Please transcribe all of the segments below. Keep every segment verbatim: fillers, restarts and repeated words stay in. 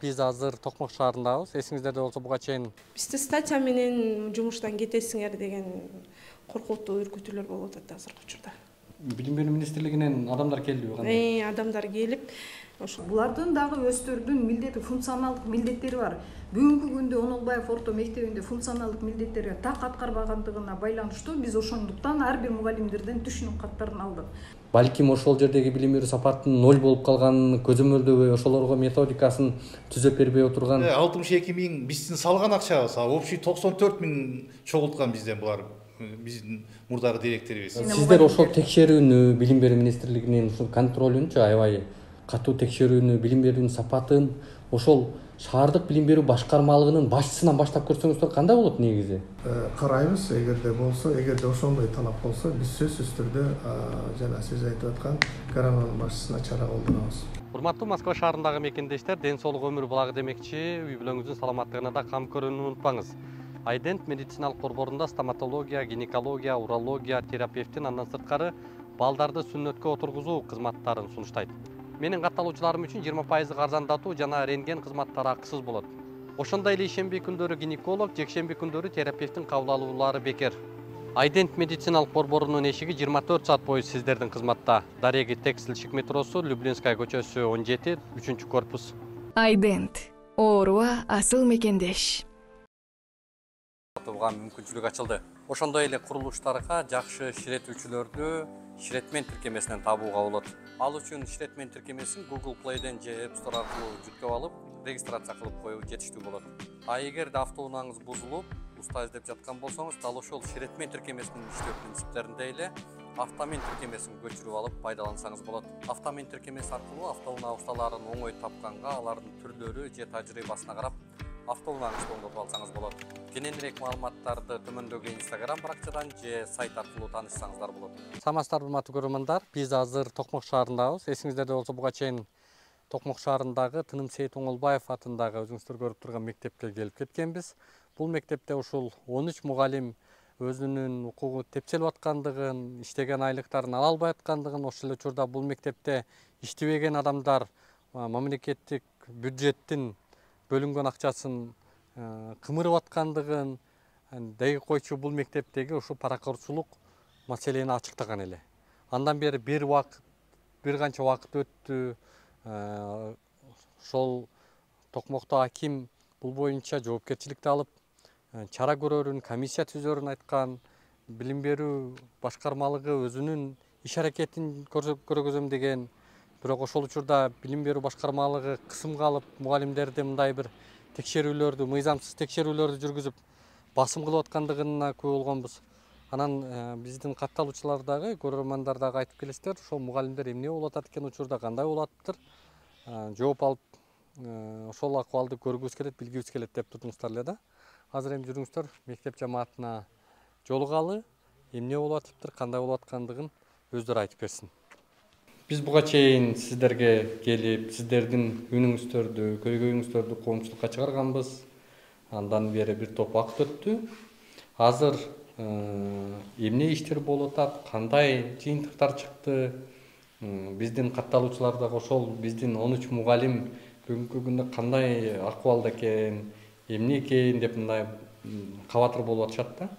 Биз азыр Токмок шаарындабыз. Эсиңиздерде болсо буга чейин бизде статья менен жумуштан кетесиңер деген коркунучтуу үркүтүүлөр болуп атат азыркы учурда. Билим берүү министрлигинен адамдар келдиби кандай? Э, адамдар келип, ошо булардын дагы өздөрүнүн милдети, функционалдык милдеттери бар. Бүгүнкү күндө Онолбаев орто мектебинде функционалдык милдеттери так аткарбагандыгына байланыштуу биз ошондуктан ар бир мугалимдерден түшүнүк каттарын алдык. Балким ошол жердеги билим берүү сапатынын ноль болуп калганын көзөмөлдөбөй, ошолорго методикасын түзөп бербей отурган. алтымыш эки миң биздин салган акчабыз, а общий токсон төрт миң чогулткан бизден булар. Биздин мурдагы директорубуз. Сиздер ошол текшерүүнү, билим берүү министрлигинин ушул контролүнчү аябай катуу текшерүүнү, билим берүүнүн сапатын ошол шаардык билим берүү башкармалыгынын башчысынан баштап көрсөңүздөр кандай болот негизи? Карайбыз, эгерде болсо, эгерде ошондой талап болсо, биз сөзсүз түрдө жана сиз айтып аткан коронанын башчысына чара колдонобуз. Урматтуу Москва шаарындагы мекендештер, ден соолук өмүр булагы демекчи, үй бүлөңүздүн саламаттыгына да кам көрүүнү унутпаңыз. Айдент медициналык борборунда стоматология, гинекология, урология, терапевтин андан сырткары балдарды сүннөткө отургузуу кызматтарын сунуштайт. Менин катталуучуларым үчүн жыйырма пайыздык арзандатуу жана рентген кызматтары акысыз болот. Ошондой эле ишемби күндөрү гинеколог, жекшемби күндөрү терапевтин кабыл алуулары бекер. Айдент медициналык борборунун эшиги жыйырма төрт саат бою сиздердин кызматта. Дареги Текстильщик метросу, Люблинская көчөсү он жети, үчүнчү корпус. Айдент. Ооруга асыл мекендеш. Буга мүмкүнчүлүк ачылды. Ошондой эле курулуштарга жакшы ширетүүчүлөрдү Ширетмен тиркемесинен табууга болот. Ал үчүн Ширетмен тиркемесин Google Play'ден же App Store аркылуу жүктөп алып, регистрация кылып коюу жетиштүү болот. А эгерде автоунааңыз бузулуп, уста издеп жаткан болсоңуз, дал ошол Ширетмен тиркемесинин иштөө принциптеринде эле автомен тиркемесин көчүрүп алып пайдалансаңыз болот. Автомен тиркемеси аркылуу автоунаа усталарын оңой тапканга, алардын түрлөрү же тажрыйбасына карап автоунааңызды оңдотуп алсаңыз болот. Кененирээк маалыматтарды төмөндөгү Instagram баракчадан же сайт аркылуу таанышсаңыздар болот. Саламатсыздарбы, урматтуу көрөрмандар. Биз азыр Токмок шаарындабыз. Эсиңиздерде болсо буга чейин Токмок шаарындагы Тынымсейит Оңолбаев атындагы өзүңүздөр көрүп турган мектепке келип кеткенбиз. Бул мектепте ушул он үч мугалим өзүнүн укугу тепселип аткандыгын, иштеген айлыктарын ала албай аткандыгын, ошол эле учурда бул мектепте иштебеген адамдар мамлекеттик бюджеттин бөлүнгөн акчасын кымырып аткандыгын деги койчу бул мектептеги ушу паракорчулук маселени ачыктаган эле. Андан бери бир убакыт, бир канча убакыт өттү. Ошол Токмокто аким бул боюнча жоопкерчиликти алып, чара көрөрүн, комиссия түзөрүн айткан. Билим берүү башкармалыгы өзүнүн иш аракетин көргөзөм деген. Бирок ошол учурда билим берүү башкармалыгы кысымга алып, мугалимдерди мындай бир текшерүүлөрдү, мыйзамсыз текшерүүлөрдү жүргүзүп, басым кылып аткандыгына күбө болгонбуз. Анан биздин катталуучулар дагы, көрөрмандар дагы айтып келесиздер, ошол мугалимдер эмне болуп атат экен учурда, кандай болуп атыптыр, жооп алып, ошол акыбалды көргүбүз келет, билгибиз келет деп турдуңуздар эле да. Азыр эми жүрүңүздөр мектеп жамаатына жолугалы, эмне болуп атыптыр, кандай болуп аткандыгын өздөрү айтып берсин. Биз буга чейин сиздерге келип, сиздердин үнүңүздөрдү, көйгөйүңүздөрдү коомчулукка чыгарганбыз. Андан бери бир топ убакыт өттү. Азыр эмне иштер болуп атат, кандай жыйынтыктар чыкты? Биздин катталуучулар дагы ошол биздин он үч мугалим бүгүнкү күндө кандай акыбалда экен, эмне экен деп мындай кабатыр болуп атышат да.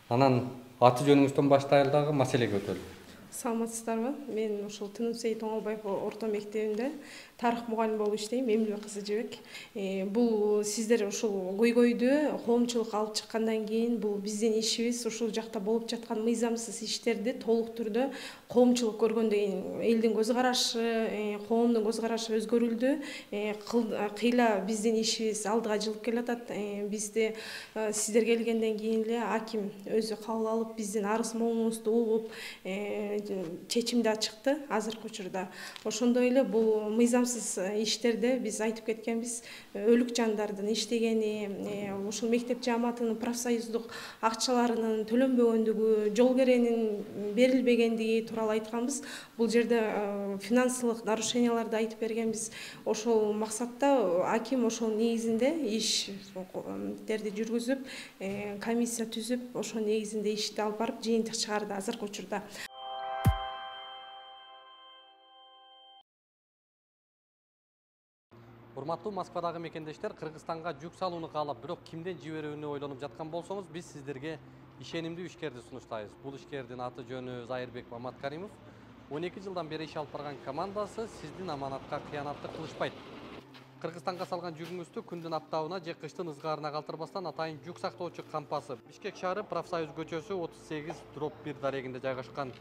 Анан аты жөнүңүздөн баштайлы дагы маселеге өтөлү. Саламатсыздарбы? Мен ушул Тынымсейит Оңолбаев орто мектебинде тарых мугалими болуп иштейм, Эмилбек кызы Жебек. Бул сиздер ушул көйгөйдү коомчулукка алып чыккандан кийин бул биздин ишибиз ушул жакта болуп жаткан мыйзамсыз иштерди толук түрдө коомчулук көргөндөн кийин элдин көз карашы, коомдун көз карашы өзгөрүлдү. Кыйла биздин ишибиз алдыга жылып келатат. Бизде сиздер келгенден кийин эле аким өзү кабыл алып, биздин арыз моңубузду угуп, чечим да чыкты азыркы учурда. Ошондой эле бул мыйзамсыз иштерде биз айтып кеткенбиз, өлүк жандардын иштегени, ушул мектеп жааматынын профсоюздук акчаларынын төлөнбөгөндүгү, жол керенин берилбегендиги тууралуу айтканбыз. Бул жерде финансылык нарушенияларды айтып бергенбиз. Ошол максатта аким ошол негизинде иштерди жүргүзүп, комиссия түзүп, ошол негизинде ишти алып барып жыйынтык чыгарды азыркы учурда. Урматтуу Москвадагы мекендештер, Кыргызстанга жүк салууну каалап, бирок кимден жиберүүнү ойлонуп жаткан болсоңуз, биз сиздерге ишенимдүү ишкерди сунуштайбыз. Бул ишкердин аты жөнү Зайырбек Маматкаримов. он эки жылдан бери иш алып барган командасы сиздин аманатка кыянаттык кылышпайт. Кыргызстанга салган жүгүңүздү күндүн аптабына же кыштын ызгаарына калтырбастан атайын жүк сактоочу кампасы Бишкек шаары Профсоюз көчөсү отуз сегиз дробь бир дарегинде жайгашкан.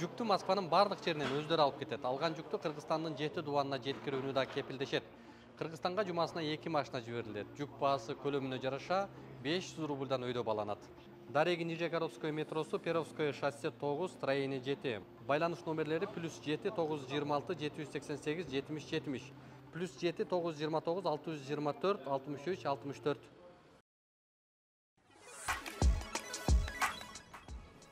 Жүктү Москванын бардык жеринен өздөрү алып кетет. Алган жүктү Кыргызстандын жети дубанына жеткирүүнү да кепилдешет. Кыргызстанга жумасына эки машина жиберилет. Жүк баасы көлөмүнө жараша беш жүз рубльдан өйдө баланат. Дареги Нижегородское метросу, Перовское шоссе тогуз, строение жети. Байланыш номерлери плюс жети тогуз жүз жыйырма алты жети жүз сексен сегиз жетимиш жетимиш, плюс жети тогуз жүз жыйырма тогуз алты жүз жыйырма төрт алтымыш үч алтымыш төрт.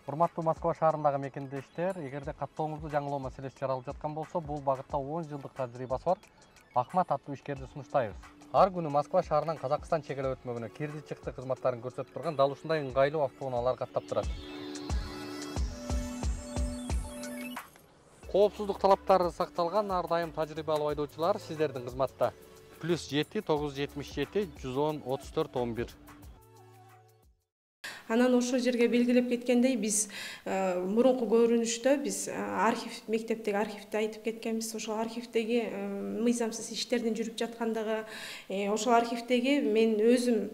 Урматтуу Москва шаарындагы мекендештер, эгерде каттооңузду жаңылоо маселеси жаралып жаткан болсо, бул багытта он жылдык тажрыйбасы бар Ахмат аттуу ишкерди сунуштайбыз. Ар күнү Москва шаарынан Казакстан чегара өтмөгүнө кирди чыкты кызматтарын көрсөтүп турган дал ушундай ыңгайлуу автоунаалар каттап турат. Коопсуздук талаптары сакталган ар дайым тажрыйбалуу айдоочулар сиздердин кызматта. плюс жети тогуз жүз жетимиш жети жүз он отуз төрт он бир. Анан ошол жерге белгилеп кеткендей, биз мурунку көрүнүштө биз архив, мектептеги архивди айтып кеткенбиз. Ошол архивдеги мыйзамсыз иштердин жүрүп жаткандыгы, ошол архивдеги мен өзүм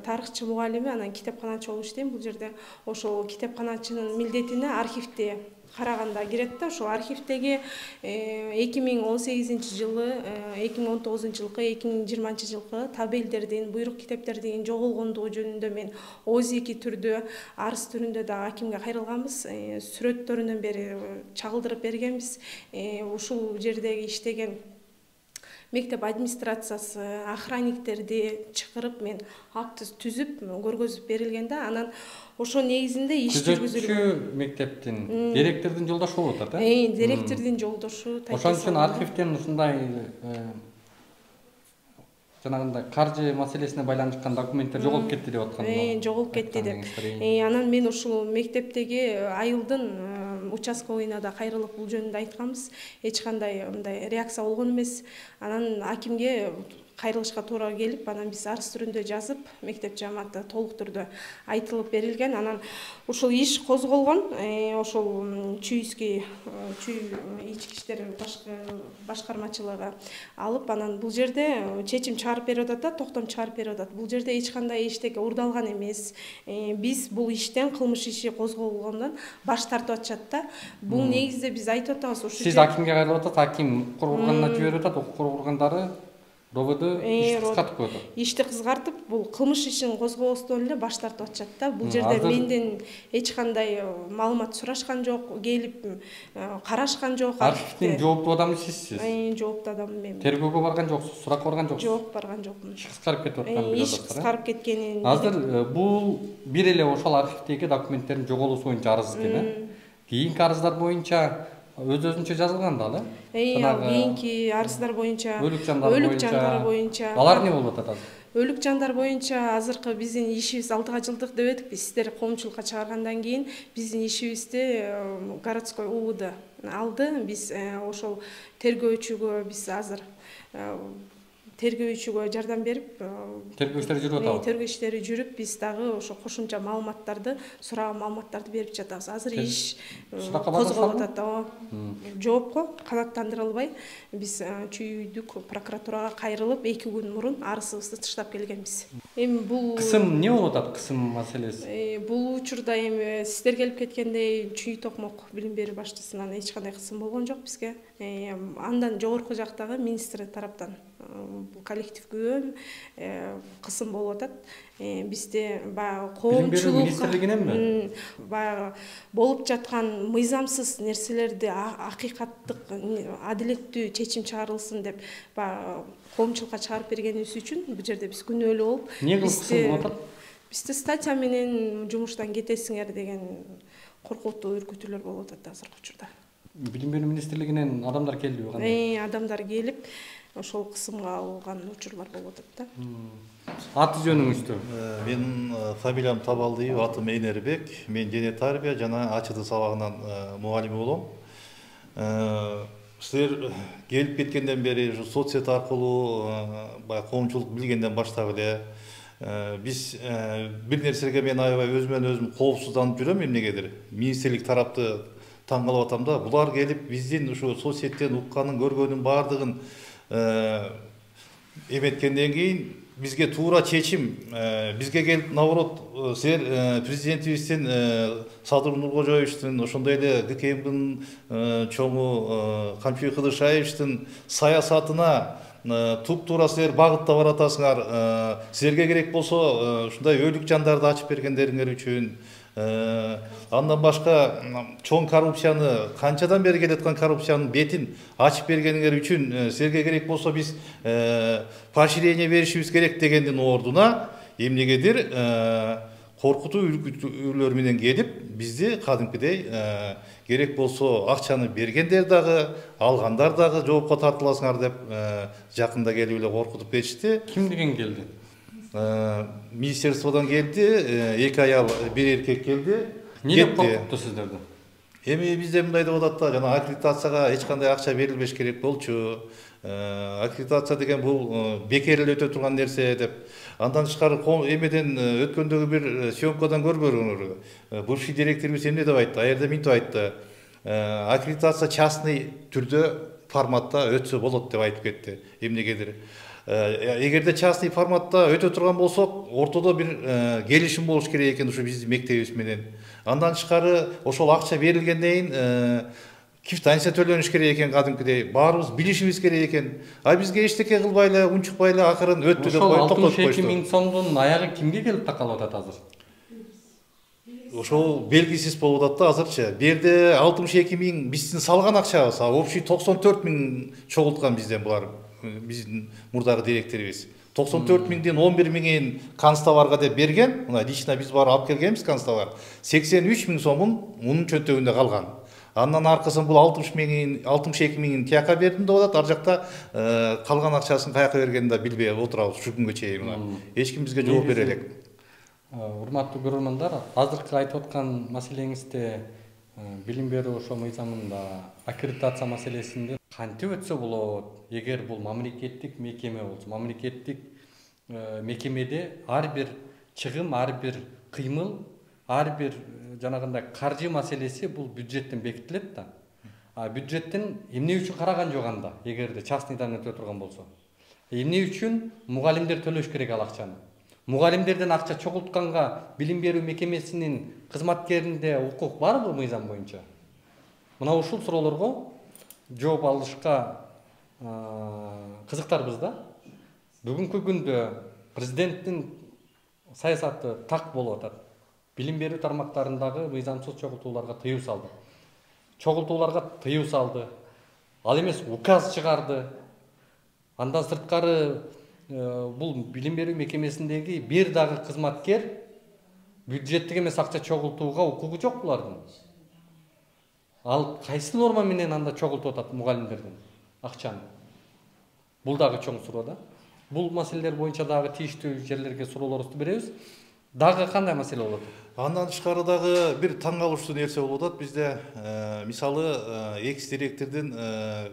тарыхчы мугалими, анан китепканачы болуп иштейм. Бул жерде ошол китепканачынын милдетине архивди караганда кирет да. Ошол архивдеги эки миң он сегизинчи жылы, эки миң он тогузунчу жылкы, эки миң жыйырманчы жылкы табелдердин, буйрук китептердин жоголгондугу жөнүндө мен озеки түрдө, арыз түрүндө да акимге кайрылганбыз. Сүрөттөрүнөн бери чагылдырып бергенбиз. Ушул жердеги иштеген мектеп администрациясы, охранниктерди чакырып мен акты түзүп көргөзүп берилген да. Анан ошо негизинде иш жүргүзүлгөн. Күзөтчү мектептин директордун жолдошу болуп атат, э? Директордун жолдошу. Ошон үчүн архивден ушундай жанагындай каржы маселесине байланышкан документтер жоголуп кетти деп аткан. Э, жоголуп кетти деп. Анан мен ушул мектептеги айылдын участковыйна да кайрылып бул жөнүндө айтканбыз. Эч кандай мындай реакция болгон эмес. Анан акимге кайрылышка туура келип, анан биз арыз түрүндө жазып, мектеп жааматы толук түрдө айтылып берилген. Анан ушул иш козголгон. Ошол чүйүскү чүй ички иштер башкармачылыгы алып, анан бул жерде чечим чыгарып берип атат да, токтом чыгарып берип атат. Бул жерде эч кандай эчтеке урдалган эмес. Биз бул иштен, кылмыш иши козголгондон баш тартып атышат да. Бул негизде биз айтып атабыз. Ошо сиз акимге кайрылып атат, аким укук органына жиберип атат, укук органдары рободу ишти кызгартып коет. Ишти кызгартып, бул кылмыш ишин козгобостон эле баш тартып атышат да. Бул жерде менден эч кандай маалымат сурашкан жок, келип карашкан жок. Архивдин жооптуу адамы сизсиз. Жооптуу адам мен. Тергөөгө барган жоксуз, суракка барган жоксуз. Жок, барган жокмун. Иш кыскарып кетип аткан иш кыскарып кеткенин. Азыр бул бир эле ошол архивдеги документтердин жоголуусу боюнча арыз экен, э? Кийинки арыздар боюнча өз-өзүнчө жазылган да, да? Кийинки арыздар боюнча, өлүк жандар боюнча. Алар эмне болуп атат азыр? Өлүк жандар боюнча азыркы биздин ишибиз алтыга жылдык деп эдик. Биз сиздер коомчулукка чыгаргандан кийин биздин ишибизди городской УВД алды. Биз ошол тергөөчүгө биз азыр тергөөчүгө жардам берип, тергөө иштери жүрүп атабы? Тергөө иштери жүрүп, биз дагы ошо кошумча маалыматтарды, сураган маалыматтарды берип жатабыз. Азыр иш козголуп атат. Жоопко канааттандырылбай биз чүйдүк прокуратурага кайрылып, эки күн мурун арызыбызды тыштап келгенбиз. Эми бул кысым эмне болуп атат, кысым маселеси? Бул учурда эми сиздер келип кеткендей Чүй Токмок билим берүү башчысынан эч кандай кысым болгон жок бизге. Андан жогорку жактагы министр тараптан коллективге кысым болуп атат. Бизде баягы коомчулук министрлигиненби? Баягы болуп жаткан мыйзамсыз нерселерди акыйкаттык, адилеттүү чечим чыгарылсын деп баягы коомчулукка чыгарып бергенибиз үчүн бул жерде биз күнөөлүү болуп, эмне кысым болуп атат? Бизде статья менен жумуштан кетесиңер деген коркутуу үркүтүүлөр болуп атат азыркы учурда. Билим берүү министрлигинен адамдар келдиби кандай? Э, адамдар келип, ошол кысымга алган учурлар болуп атат да. Аты жөнүңүздү? Менин фамилиям Табалдиев, атым Энербек. Мен дене тарбия жана АЧТ сабагынан мугалими болом. силер келип кеткенден бери соц сет аркылуу баягы коомчулук билгенден баштап эле биз бир нерсеге мен аябай өзүмөн өзүм коопсузданып жүрөм. Эмнегедир министрлик тарапты таң калып атам да, булар келип биздин ушу соц сеттен укканын көргөнүн баардыгын эметкенден кийин бизге туура чечим, бизге келип наоборот силер президентибиздин Садыр Нуркожоевичтин, ошондой эле ГКМдин чоңу Камчыбек Кыдыршаевичтин саясатына туп-туура силер багытта баратасыңар. Силерге керек болсо ушундай өйлүк жандарды ачып бергендериңер үчүн, андан башка чоң коррупцияны, канчадан бери келаткан коррупциянын бетин ачып бергениңер үчүн силерге керек болсо биз поощрение беришибиз керек дегендин ордуна эмнегедир коркутуу үркүтүүлөр менен келип бизди кадимкидей керек болсо акчаны бергендер дагы, алгандар дагы жоопко тартыласыңар деп жакында келип эле коркутуп кетишти. Ким деген келди? Министерстводон келди, эки аял, бир эркек келди. Эмне деп коркутту сиздерди? Эми бизде мындай деп атат да, жана аккредитацияга эч кандай акча берилбеш керек болчу. Аккредитация деген бул бекер эле өтө турган нерсе деп. Андан тышкары эмеден өткөндөгү бир съемкадан көрбөгөнөр. Бывший директорубуз эмне деп айтты? Аерде минтип айтты. Аккредитация частный түрдө форматта өтсө болот деп айтып кетти. Эмнегедир эгерде частный форматта өтө турган болсок, ортодо бир келишим болуш керек экен ушу биздин мектебибиз менен. Андан тышкары ошол акча берилгенден кийин квитанция төлөнүш керек экен, кадимкидей баарыбыз билишибиз керек экен. А бизге эчтеке кылбай эле, унчукпай эле акырын өттү деп коюп токтотуп коюшту. алтымыш эки миң сомдун аягы кимге келип такалып атат азыр? Ошол белгисиз болуп атат да азырчы. Бу жерде алтымыш эки миң биздин салган акчабыз, а общий токсон төрт миң чогулткан бизден булар. Биздин мурдагы директорубуз токсон төрт миңдин он бир миңин канцтоварга деп берген. Мына лично биз барып алып келгенбиз канцтовар. сексен үч миң сомун мунун чөнтөгүндө калган. Андан аркысын бул алтымыш эки миңин тияка бердим деп атат. Ар жакта калган акчасын каяка бергенин да билбей отурабыз ушу күнгө чейин. Мына эч ким бизге жооп бере элек. Урматтуу көрөрмандар, азыркы айтып аткан маселеңизде билим берүү ошо мыйзамында аккредитация маселесинде кантип өтсө болот? Эгер бул мамлекеттик мекеме болсо, мамлекеттик мекемеде ар бир чыгым, ар бир кыймыл, ар бир жанагындай каржы маселеси бул бюджеттен бекитилет да. А бюджеттен эмне үчүн караган жок анда, эгерде частныйдан өтө турган болсо? Эмне үчүн мугалимдер төлөш керек ал акчаны? Мугалимдерден акча чогултканга билим берүү мекемесинин кызматкеринде укук барбы мыйзам боюнча? Мына ушул суроолорго жооп алышка кызыктарбыз да. Бүгүнкү күндө президенттин саясаты так болуп атат. Билим берүү тармактарындагы мыйзамсыз чогултууларга тыюу салды. Чогултууларга тыюу салды. Ал эмес указ чыгарды. Андан сырткары бул билим берүү мекемесиндеги бир дагы кызматкер бюджеттик эмес акча чогултууга укугу жок булардын. Ал кайсы норма менен анда чогултуп атат мугалимдерден акчаны? Бул дагы чоң суроо да. Бул маселелер боюнча дагы тийиштүү жерлерге суроолорубузду беребиз. Дагы кандай маселе болот? Андан тышкары дагы бир таң калыштуу нерсе болуп атат бизде. Мисалы, экс директордун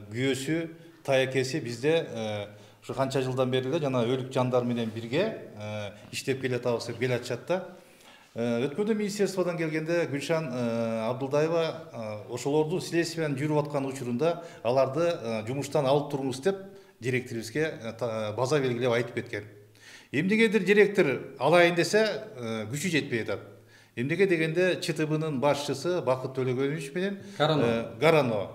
күйөөсү, таякеси бизде ушу канча жылдан бери эле жана өлүк жандар менен бирге иштеп келатабыз деп келатышат да. Өткөндө министерстводон келгенде Гүлшан Абдылдаева ошолорду следствияны жүрүп аткан учурунда аларды жумуштан алып туруңуз деп директорубузга база белгилеп айтып кеткен. Эмнегедир директор алайын десе күчү жетпей атат. Эмнеге дегенде ЧТБнын башчысы Бакыт Төлөгөнович менен Гарано,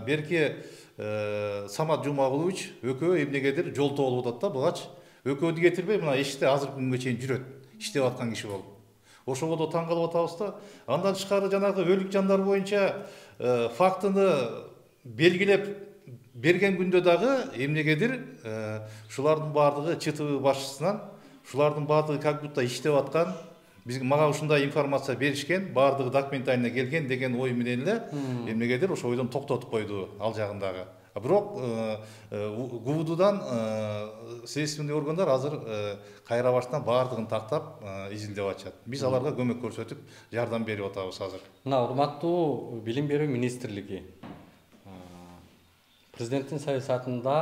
берки Самат Жумагулович экөө эмнегедир жолтоо болуп атат да, бугач экөөдү кетирбей мына эшикте азыркы күнгө чейин жүрөт, иштеп аткан киши болуп. Ошого таң калып атабыз да. Андан тышкары жанагы өлүк жандар боюнча фактыны белгилеп берген күндө дагы эмнегедир ушулардын баардыгы ЧТБ башчысынан, ушулардын баардыгы как будто иштеп аткан, бизге мага ушундай информация беришкен, баардыгы документально келген деген ой менен эле эмнегедир ошо ойдон токтотуп койду ал жагындагы. Бирок ГУВДдан следственный органдар азыр кайра баштан баардыгын тактап изилдеп атышат. Биз аларга көмөк көрсөтүп, жардам берип атабыз азыр. Мына урматтуу билим берүү министрлиги президенттин саясатында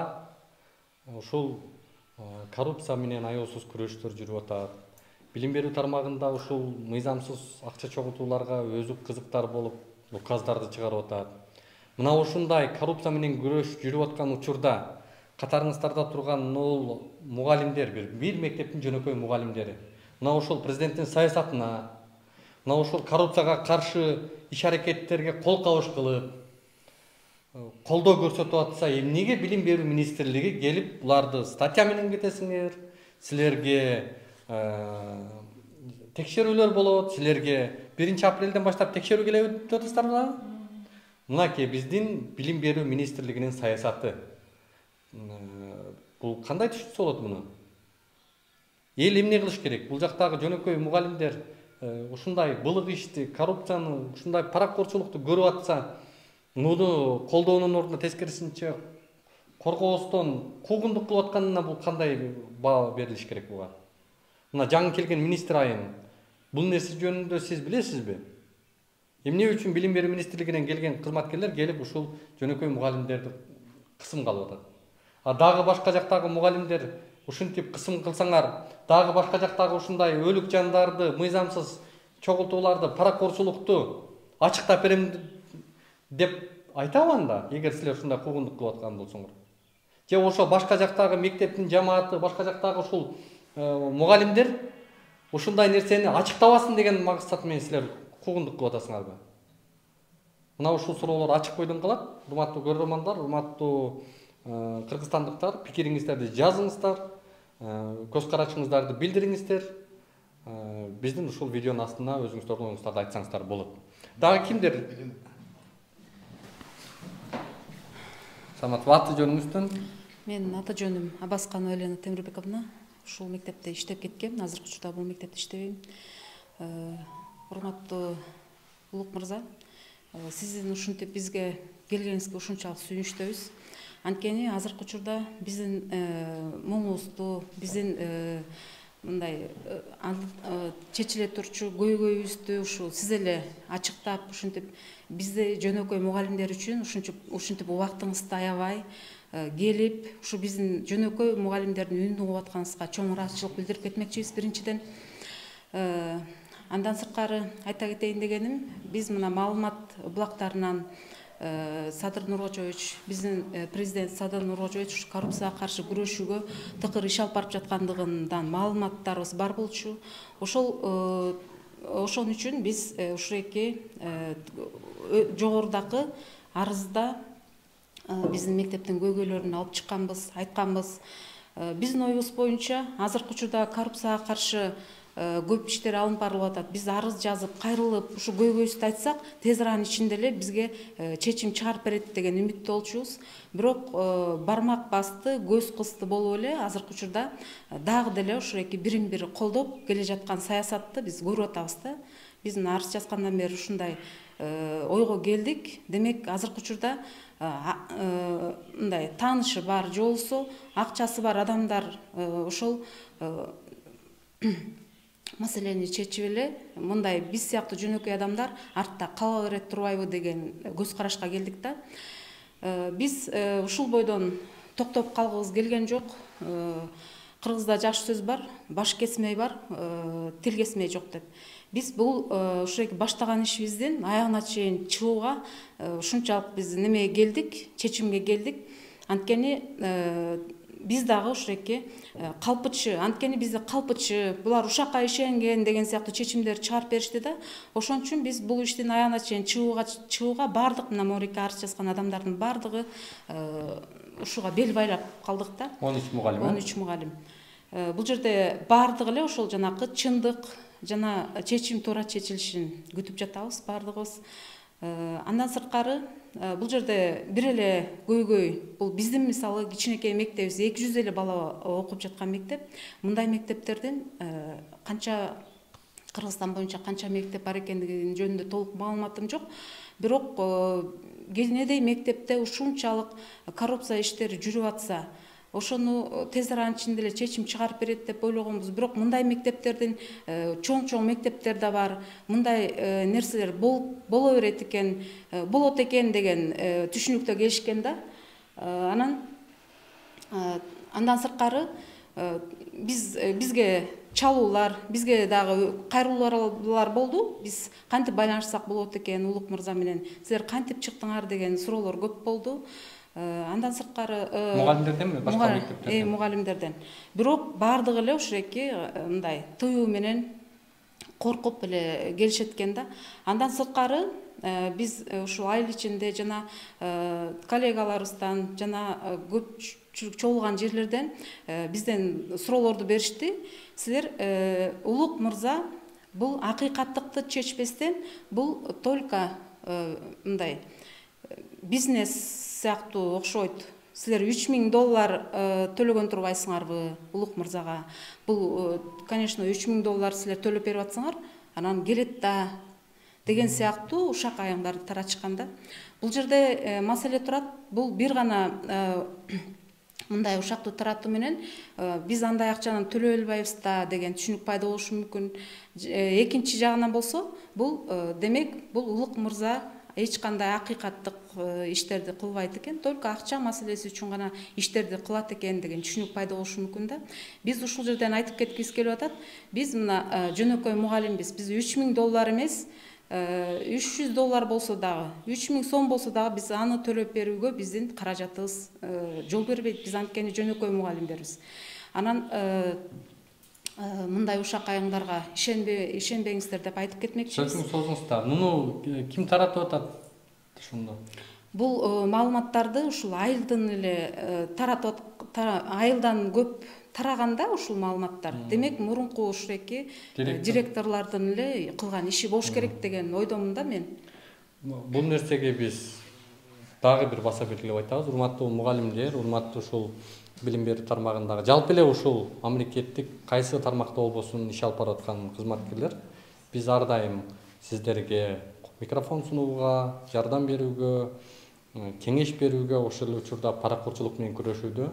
ушул коррупция менен аеосуз күрөштөр жүрүп атат. Билим берүү тармагында ушул мыйзамсыз акча чогултууларга өзү кызыктар болуп указдарды чыгарып атат. Мына ушундай коррупция менен күрөш жүрүп аткан учурда катарыңыздарда турган могул мугалимдер, бир бир мектептин жөнөкөй мугалимдери мына ушул президенттин саясатына, мына ушул коррупцияга каршы иш аракеттерге кол кабыш кылып, колдоо көрсөтүп атса, эмнеге билим берүү министрлиги келип буларды статья менен кетесиңер, силерге текшерүүлөр болот, силерге биринчи апрелден баштап текшерүү келет деп атасыздарбы? Мынакей биздин билим берүү министрлигинин саясаты. Бул кандай түшүнсө болот муну? Эл эмне кылыш керек? Бул жактагы жөнөкөй мугалимдер ушундай былык ишти, коррупцияны, ушундай паракорчулукту көрүп атса, муну колдоонун ордуна тескерисинче коргоостон куугундук кылып атканына бул кандай баа берилиш керек буга? Мына жаңы келген министр айым, бул нерсе жөнүндө сиз билесизби? Эмне үчүн билим берүү министрлигинен келген кызматкерлер келип ушул жөнөкөй мугалимдерди кысымга алып атат? А дагы башка жактагы мугалимдер ушинтип кысым кылсаңар, дагы башка жактагы ушундай өлүк жандарды, мыйзамсыз чогултууларды, паракорчулукту ачыктап берем деп айтабы анда, эгер силер ушундай куугундук кылып аткан болсоңор? Же ошо башка жактагы мектептин жамааты, башка жактагы ушул мугалимдер ушундай нерсени ачыктабасын деген максат менен силер куугундук кылып атасыңарбы? Мына ушул суроолор ачык бойдон калат. Урматтуу көрөрмандар, урматтуу кыргызстандыктар, пикириңиздерди жазыңыздар, көз карашыңыздарды билдириңиздер. Биздин ушул видеонун астына өзүңүздөрдүн оюңуздарды айтсаңыздар болот. Дагы кимдер? Самат, аты жөнүңүздөн? Мен аты жөнүм Абасканова Елена Темирбековна. Ушул мектепте иштеп кеткем. Азыркы учурда бул мектепте иштебейм. Урматтуу Улук мырза, сиздин ушинтип бизге келгениңизге ушунчалык сүйүнүчтөбүз. Анткени азыркы учурда биздин муңубузду, биздин мындай чечиле турчу көйгөйүбүздү ушул сиз эле ачыктап, ушинтип бизде жөнөкөй мугалимдер үчүн ушинтип убактыңызды аябай келип, ушу биздин жөнөкөй мугалимдердин үнүн угуп атканыңызга чоң ыраазычылык билдирип кетмекчибиз биринчиден. Андан сырткары айта кетейин дегеним, биз мына маалымат булактарынан Садыр Нуркожоевич, биздин президент Садыр Нуркожоевич коррупцияга каршы күрөшүүгө тыкыр иш алып барып жаткандыгынан маалыматтарыбыз бар болчу. Ошол ошон үчүн биз ушуреки жогорудагы арызда биздин мектептин көйгөйлөрүн алып чыкканбыз, айтканбыз. Биздин оюбуз боюнча азыркы учурда коррупцияга каршы көп иштер алынып барылып атат. Биз арыз жазып, кайрылып, ушу көйгөйүбүздү айтсак, тез аранын ичинде эле бизге чечим чыгарып берет деген үмүттө болчубуз. Бирок бармак басты, көз кысты болуп эле азыркы учурда дагы деле ушуреки бирин бири колдоп келе жаткан саясатты биз көрүп атабыз да. Биз мына арыз жазгандан бери ушундай ойго келдик. Демек, азыркы учурда мындай таанышы бар, же болбосо акчасы бар адамдар ошол маселени чечип эле мындай биз сыяктуу жөнөкөй адамдар артта кала берет турбайбы деген көз карашка келдик да. Биз ушул бойдон токтоп калгыбыз келген жок. Кыргызда жакшы сөз бар, баш кесмей бар, тил кесмей жок деп. Биз бул ушуреки баштаган ишибиздин аягына чейин чыгууга ушунчалык биз немеге келдик, чечимге келдик. Анткени биз дагы ушуреки калпычы, анткени бизде калпычы, булар ушакка ишенген деген сыяктуу чечимдер чыгарып беришти да. Ошон үчүн биз бул иштин аягына чейин чыгууга чыгууга бардык мына Морике арыз жазган адамдардын бардыгы ушуга бел байлап калдык да. он үч мугалим. он үч мугалим. Бул жерде бардыгы эле ошол жанакы чындык жана чечим туура чечилишин күтүп жатабыз бардыгыбыз. Андан сырткары бул жерде бир эле көйгөй, бул биздин мисалы кичинекей мектебибиз эки жүз эле бала окуп жаткан мектеп. Мындай мектептердин канча Кыргызстан боюнча канча мектеп бар экендиги жөнүндө толук маалыматым жок. Бирок кенедей мектепте ушунчалык коррупция иштери жүрүп атса, ошону тез аранын ичинде эле чечим чыгарып берет деп ойлогонбуз. Бирок мындай мектептердин чоң-чоң мектептер да бар. Мындай нерселер боло берет экен, болот экен деген түшүнүктө келишкен да. Анан андан сырткары биз бизге чалуулар, бизге дагы кайрылуулар болду. Биз кантип байланышсак болот экен Улук мырза менен, силер кантип чыктыңар деген суроолор көп болду. Андан сырткары мугалимдерденби, башка мектептерден? Э, мугалимдерден. Бирок бардыгы эле ушуреки мындай тыюу менен коркуп эле келишет экен да. Андан сырткары биз ушул айыл ичинде жана коллегаларыбыздан жана көп чогулган жерлерден бизден суроолорду беришти. Силер Улук мырза бул акыйкаттыкты чечпестен, бул только мындай бизнес сыяктуу окшойт. Силер үч миң доллар төлөгөн турбайсыңарбы Улук мырзага? Бул, конечно, үч миң доллар силер төлөп берип атсаңар, анан келет да деген сыяктуу ушак аяңдарды таратышканда. Бул жерде маселе турат. Бул бир гана мындай ушактуу таратуу менен биз андай акчаны төлөй албайбыз да деген түшүнүк пайда болушу мүмкүн. Экинчи жагынан болсо, бул демек бул Улук мырза эч кандай акыйкаттык иштерди кылбайт экен, только акча маселеси үчүн гана иштерди кылат экен деген түшүнүк пайда болушу мүмкүн да. Биз ушул жерден айтып кеткибиз келип атат. Биз мына жөнөкөй мугалимбиз. Биз үч миң доллар эмес, үч жүз доллар болсо дагы, үч миң сом болсо дагы биз аны төлөп берүүгө биздин каражатыбыз жол бербейт. Биз анткени жөнөкөй мугалимдербиз. Анан мындай ушак аяңдарга ишенбеңиздер деп айтып кетмекчибиз. Сөзүңүз созуңуздар. Муну ким таратып атат ошондо? Бул маалыматтарды ушул айылдан эле таратып, айылдан көп тараганда ушул маалыматтар. Демек, мурунку ушуреки директорлордун эле кылган иши болуш керек деген ойдомун да мен. Бул нерсеге биз дагы бир баса белгилеп айтабыз. Урматтуу мугалимдер, урматтуу ушул билим берүү тармагындагы, жалпы эле ушул мамлекеттик кайсы тармакта болбосун иш алып барып аткан кызматкерлер, биз ар дайым сиздерге микрофон сунууга, жардам берүүгө, кеңеш берүүгө, ошол эле учурда паракурчулук менен күрөшүүдө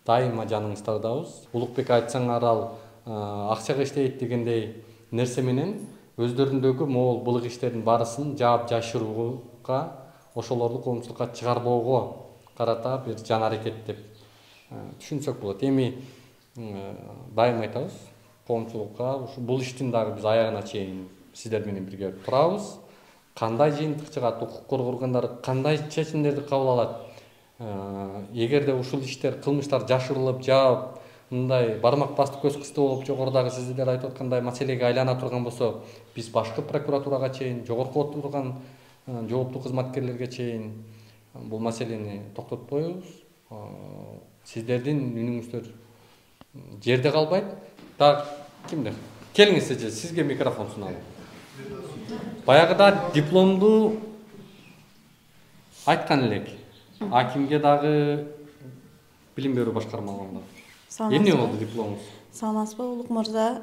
дайыма жаныңыздардабыз. Улукбек айтсаңар ал акчага иштейт дегендей нерсе менен өздөрүндөгү могул былык иштердин баарысын жаап жашырууга, ошолорду коомчулукка чыгарбоого карата бир жан аракет деп түшүнсөк болот. Эми дайым айтабыз, коомчулукка ушу бул иштин дагы биз аягына чейин сиздер менен бирге турабыз. Кандай жыйынтык чыгат, укук коргоо органдары кандай чечимдерди кабыл алат? Эгерде ушул иштер, кылмыштар жашырылып, жаап, мындай бармак басты көз кысты болуп, жогорудагы сиздер айтып аткандай маселеге айлана турган болсо, биз башкы прокуратурага чейин, жогорку отурган жооптуу кызматкерлерге чейин бул маселени токтотпойбуз. Сиздердин үнүңүздөр жерде калбайт. Так, кимде? Келиңиз эже, сизге микрофон суналы. Баягыда дипломду айткан элек. Акимге дагы билим берүү башкармаларында. Эмне болду дипломуңуз? Саламатсызбы, Улук мырза?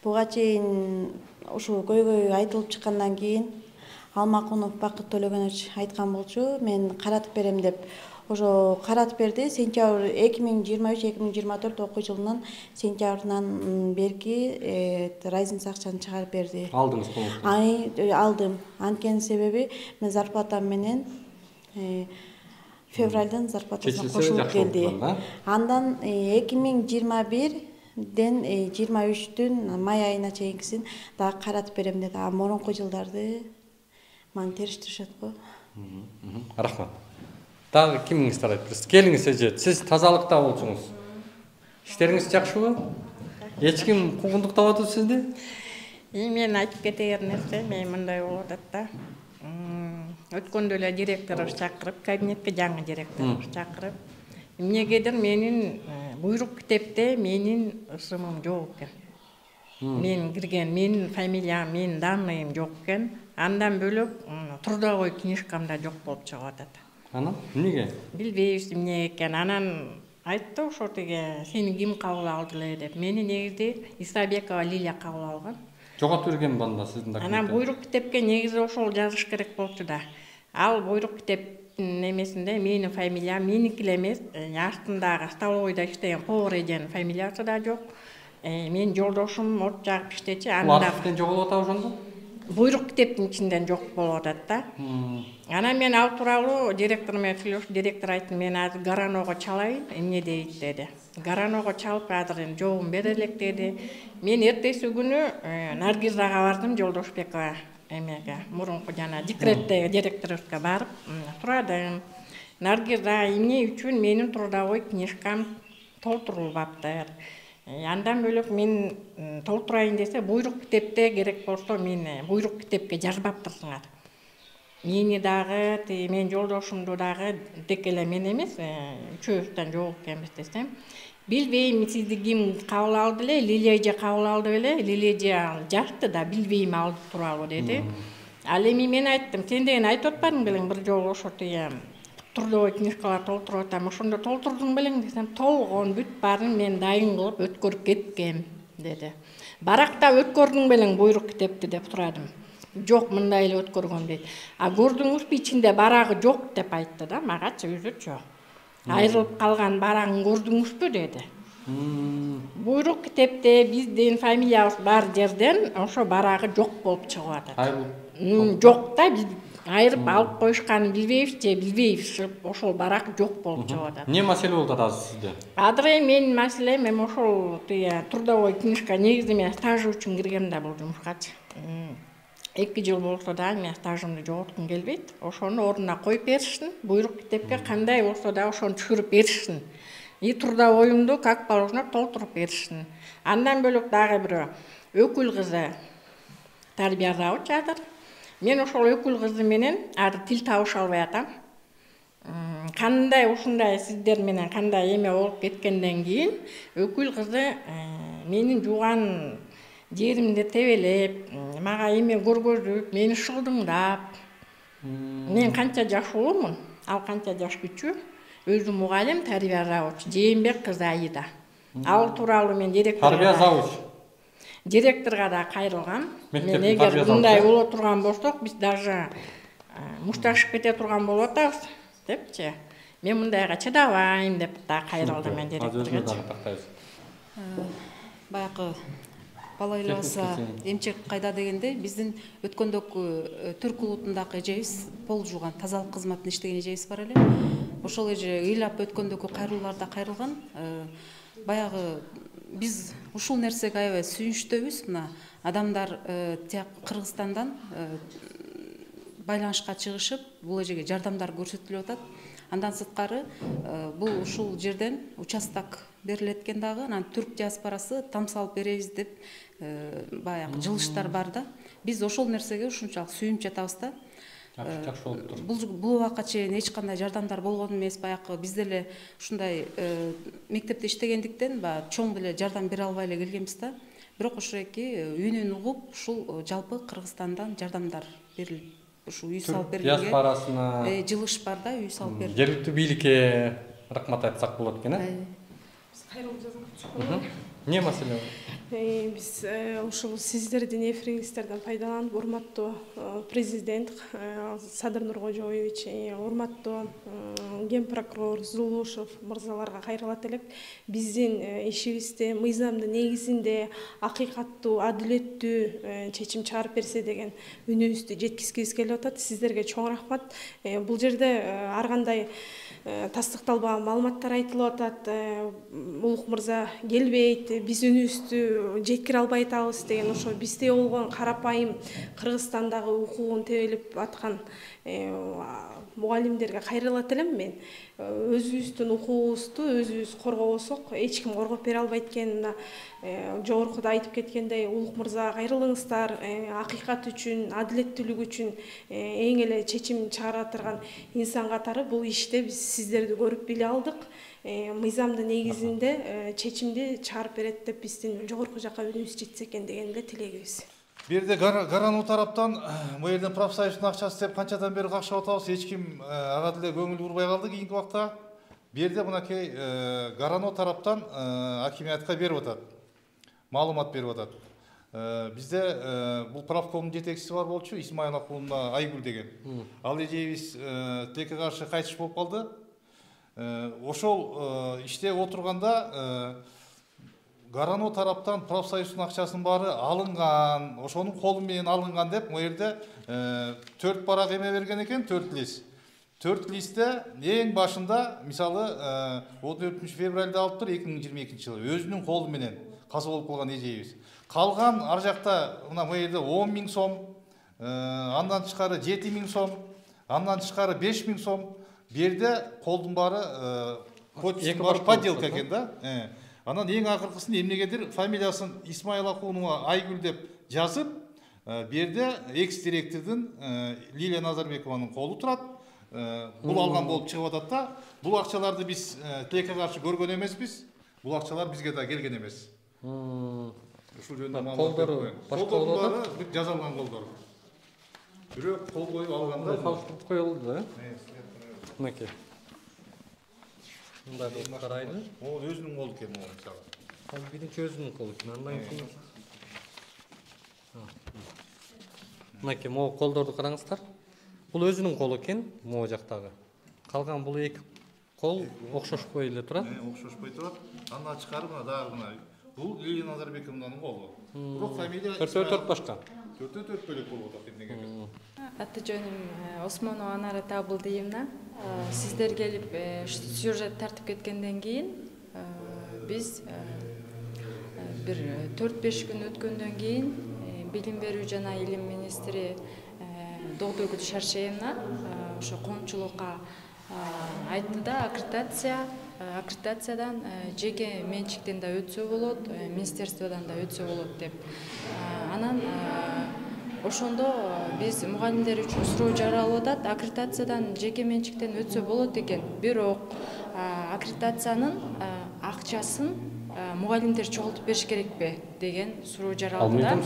Буга чейин ушу көйгөй айтылып чыккандан кийин Алмакунов Бакыт Төлөгөнович айткан болчу, мен каратып берем деп. Ошо каратып берди. Сентябрь эки миң жыйырма үч эки миң жыйырма төрт окуу жылынын сентябрынан берки разница акчаны чыгарып берди. Алдыңыз коомчу? Ай, алдым. Анткени себеби мен зарплатам менен февралдан зарплатасына кошулуп келди. Андан эки миң жыйырма бирден жыйырма үчтүн май айына чейинкисин дагы каратып берем деди. А мурунку жылдарды маны териштиришет го. Рахмат. Дагы кимиңиздер айтып берсиз? Келиңиз эже, сиз тазалыкта болчуңуз. Иштериңиз жакшыбы? Эч ким куугунтуктап атат сизди? Мен айтып кетер нерсе, мен мындай болуп атат да. Өткөндө эле директорубуз чакырып, кабинетке жаңы директорубуз чакырып, эмнегедир менин буйрук китепте менин ысымым жок экен. Мен кирген, менин фамилиям, менин данныйым жок экен. Андан бөлөк трудовой книжкамда жок болуп чыгып атат. Анан эмнеге? Билбейбиз эмне экен. Анан айтты ошо тиги сени ким кабыл алды эле деп. Мени негизи Исабекова Лилия кабыл алган. Жоготуп берген банда сиздин документте. Анан буйрук китепке негизи ошол жазыш керек болчу да. Ал буйрук китептин немесинде менин фамилиям меники эле эмес, астындагы столовойдо иштеген повар эженин фамилиясы да жок. Мен жолдошум от жагып иштечи. Анда архивден жоголуп атабы ошондо? буйрук китептин ичинден жок болуп атат да. Анан мен ал тууралуу директор менен сүйлөшүп, директор айтты, мен азыр Гараного чалайын, эмне дейт деди. Гараного чалып азыр эми жообун бере элек деди. Мен эртеси күнү Наргизага бардым, Жолдошбекова эмеге, мурунку жана декреттеги директорубузга барып сурадым. Наргиза, эмне үчүн менин трудовой книжкам толтурулбаптыр? Андан бөлөк мен толтурайын десе, буйрук китепте керек болсо мен буйрук китепке жазбаптырсыңар. Мени дагы, мен жолдошумду дагы тек эле мен эмес, үчөөбүздөн жооп экенбиз десем, билбейм, сизди ким кабыл алды эле, Лилия эже кабыл алды беле, Лилия эже жазды да, билбейм ал тууралуу деди. Ал эми мен айттым, сен деген айтып атпадың белең бир жолу ошо тие трудовой книжкалар толтуруп атам, ошондо толтурдуң белең десем, толгон бүт баарын мен дайын кылып өткөрүп кеткем деди. Баракта өткөрдүң белең буйрук китепти деп сурадым. Жок, мындай эле өткөргөм дейт. А көрдүңүзбү ичинде барагы жок деп айтты да, магачы үзүчү. Айрылып калган барагын көрдүңүзбү деди. Буйрук китепте биздин фамилиябыз бар жерден ошо барагы жок болуп чыгып атат. Айрылып жок да, биз айырып алып коюшканын билбейбиз же билбейбиз, ошол барак жок болуп чыгып атат. Эмне маселе болуп атат азыр сизде? Азыр менин маселем эми ошол тие трудовой книжка, негизи мен стаж үчүн киргем да бул жумушкачы. эки жыл болсо да мен стажымды жоготкум келбейт. Ошону ордуна коюп беришsin, буйрук китепке кандай болсо да ошону түшүрүп беришsin. И трудовойумду как положено толтуруп беришsin. Андан бөлөк дагы бирөө өкүл кызы тарбиялабычы азыр. Мен ошол өкүл кызы менен азыр тил табыша албай атам. Кандай ушундай сиздер менен кандай эме болуп кеткенден кийин өкүл кызы менин жууган жеримди тебелеп, мага эме көргөзүп, мени шылдыңдап. Мен канча жашуулумун, ал канча жаш күчү, өзү мугалим, тарбия завуч, Жээнбек кызы Аида. Ал тууралуу мен директорго тарбия завуч. Директорго да кайрылгам. Мен эгер мындай боло турган болсок, биз даже мушташып кете турган болуп атабыз, депчи. Мен мындайга чыдабайм деп да кайрылдым мен директорго. Баягы бала ыйлабаса эмчек кайда дегенде, биздин өткөндөгү түрк улутундагы эжебиз пол жууган тазалык кызматында иштеген эжебиз бар эле. Ошол эже ыйлап өткөндөгү кайрылууларда кайрылган. Баягы биз ушул нерсеге аябай сүйүнүчтөбүз. Мына адамдар тияк Кыргызстандан байланышка чыгышып, бул эжеге жардамдар көрсөтүлүп атат. Андан сырткары бул ушул жерден участок берилет экен дагы, анан түрк диаспорасы там салып беребиз деп баягы жылыштар бар да. Биз ошол нерсеге ушунчалык сүйүнүп жатабыз да. Жакшы болуп тур. Бул бул убакка чейин эч кандай жардамдар болгон эмес. Баягы биз деле ушундай мектепте иштегендиктен баягы чоң деле жардам бере албай эле келгенбиз да. Бирок ушуреки үнүн угуп, ушул жалпы Кыргызстандан жардамдар берилип, ушу үй салып берилген. Диаспорасына жылыш бар да, үй салып берилген. Жергиликтүү бийликке рахмат айтсак болот экен, э? Кайрылып жазган. Эмне маселе бар? Биз ушул сиздердин эфириңиздерден пайдаланып, урматтуу президент Садыр Нуркожоевич, урматтуу ген прокурор Зулушев мырзаларга кайрылат элек. Биздин ишибизде мыйзамдын негизинде акыйкаттуу, адилеттүү чечим чыгарып берсе деген үнүбүздү жеткизгибиз келип атат. Сиздерге чоң рахмат. Бул жерде ар кандай тастыкталбаган маалыматтар айтылып атат. Улук мырза келбейт, биз үнүбүздү жеткире албай атабыз деген ошо бизде болгон карапайым Кыргызстандагы укугун тебелеп аткан мугалимдерге кайрылат элем мен. Өзүбүздүн укугубузду өзүбүз коргобосок, эч ким коргоп бере албайт экен. Жогоркуда айтып кеткендей, улук мырзага кайрылыңыздар, акыйкат үчүн, адилеттүүлүк үчүн эң эле чечим чыгара турган инсан катары бул иште биз сиздерди көрүп биле алдык. Мыйзамдын негизинде чечимди чыгарып берет деп биздин жогорку жака үнүбүз жетсе экен деген эле тилегибиз. Бул жерде Гарануу тараптан бул жерден профсоюздун акчасы деп канчадан бери какшап атабыз, эч ким ага деле көңүл бурбай калды кийинки убакта. Бул жерде мынакей Гарануу тараптан акимиятка берип атат, маалымат берип атат. Бизде бул правкомдун жетекчиси бар болчу, Исмаилова кулуна Айгүл деген. Ал эжебиз тилекке каршы кайтыш болуп калды. Ошол иште отурганда Гарано тараптан профсоюздун акчасынын баары алынган, ошонун колу менен алынган деп могу жерде төрт барак эме берген экен, төрт лист. төрт листте эң башында мисалы он төртүнчү февралда алыптыр эки миң жыйырма экинчи жылы өзүнүн колу менен каза болуп калган эжейибиз. Калган ар жакта мына могу жерде он миң сом, андан тышкары жети миң сом, андан тышкары беш миң сом. Бу жерде колдун баары подделка экен да. Анан эң акыркысын эмнегедир фамилиясын Исмаил Акунова Айгүл деп жазып, бу жерде экс-директордун Лилия Назарбекованын колу турат. Бул алган болуп чыгып атат да. Бул акчаларды биз тилекке каршы көргөн эмеспиз. Бул акчалар бизге да келген эмес. Ушул жөнүндө маалымат берип коеюн. Колдор жазалган колдор. Бирок кол коюп алганда фалштык коюлду да. Мынакей. Мындай болуп карайды. Ол өзүнүн колу экен могу мисалы. Ал биринчи өзүнүн колу экен. Андан кийин мынакей могу колдорду караңыздар. Бул өзүнүн колу экен, могу жактагы. Калган бул эки кол окшошпой эле турат. Окшошпой турат. Андан тышкары мына дагы мына бул Лилия Назарбекованын колу. Бирок фамилия төртөө төрт башка. Төртөө төрт бөлөк болуп атат эмнеге? Аты жөнүм Осмонова Анара Табылдыевна. Сиздер келип сюжет тартып кеткенден кийин биз бир төрт беш күн өткөндөн кийин билим берүү жана илим министри Долгогүл Шаршеевна ошо коомчулукка айтты да, аккредитация аккредитациядан жеке менчиктен да өтсө болот, министерстводон да өтсө болот деп. Анан ошондо биз мугалимдер үчүн суроо жаралып атат, аккредитациядан жеке менчиктен өтсө болот экен. Бирок аккредитациянын акчасын мугалимдер чогултуп бериш керекпи деген суроо жаралды да.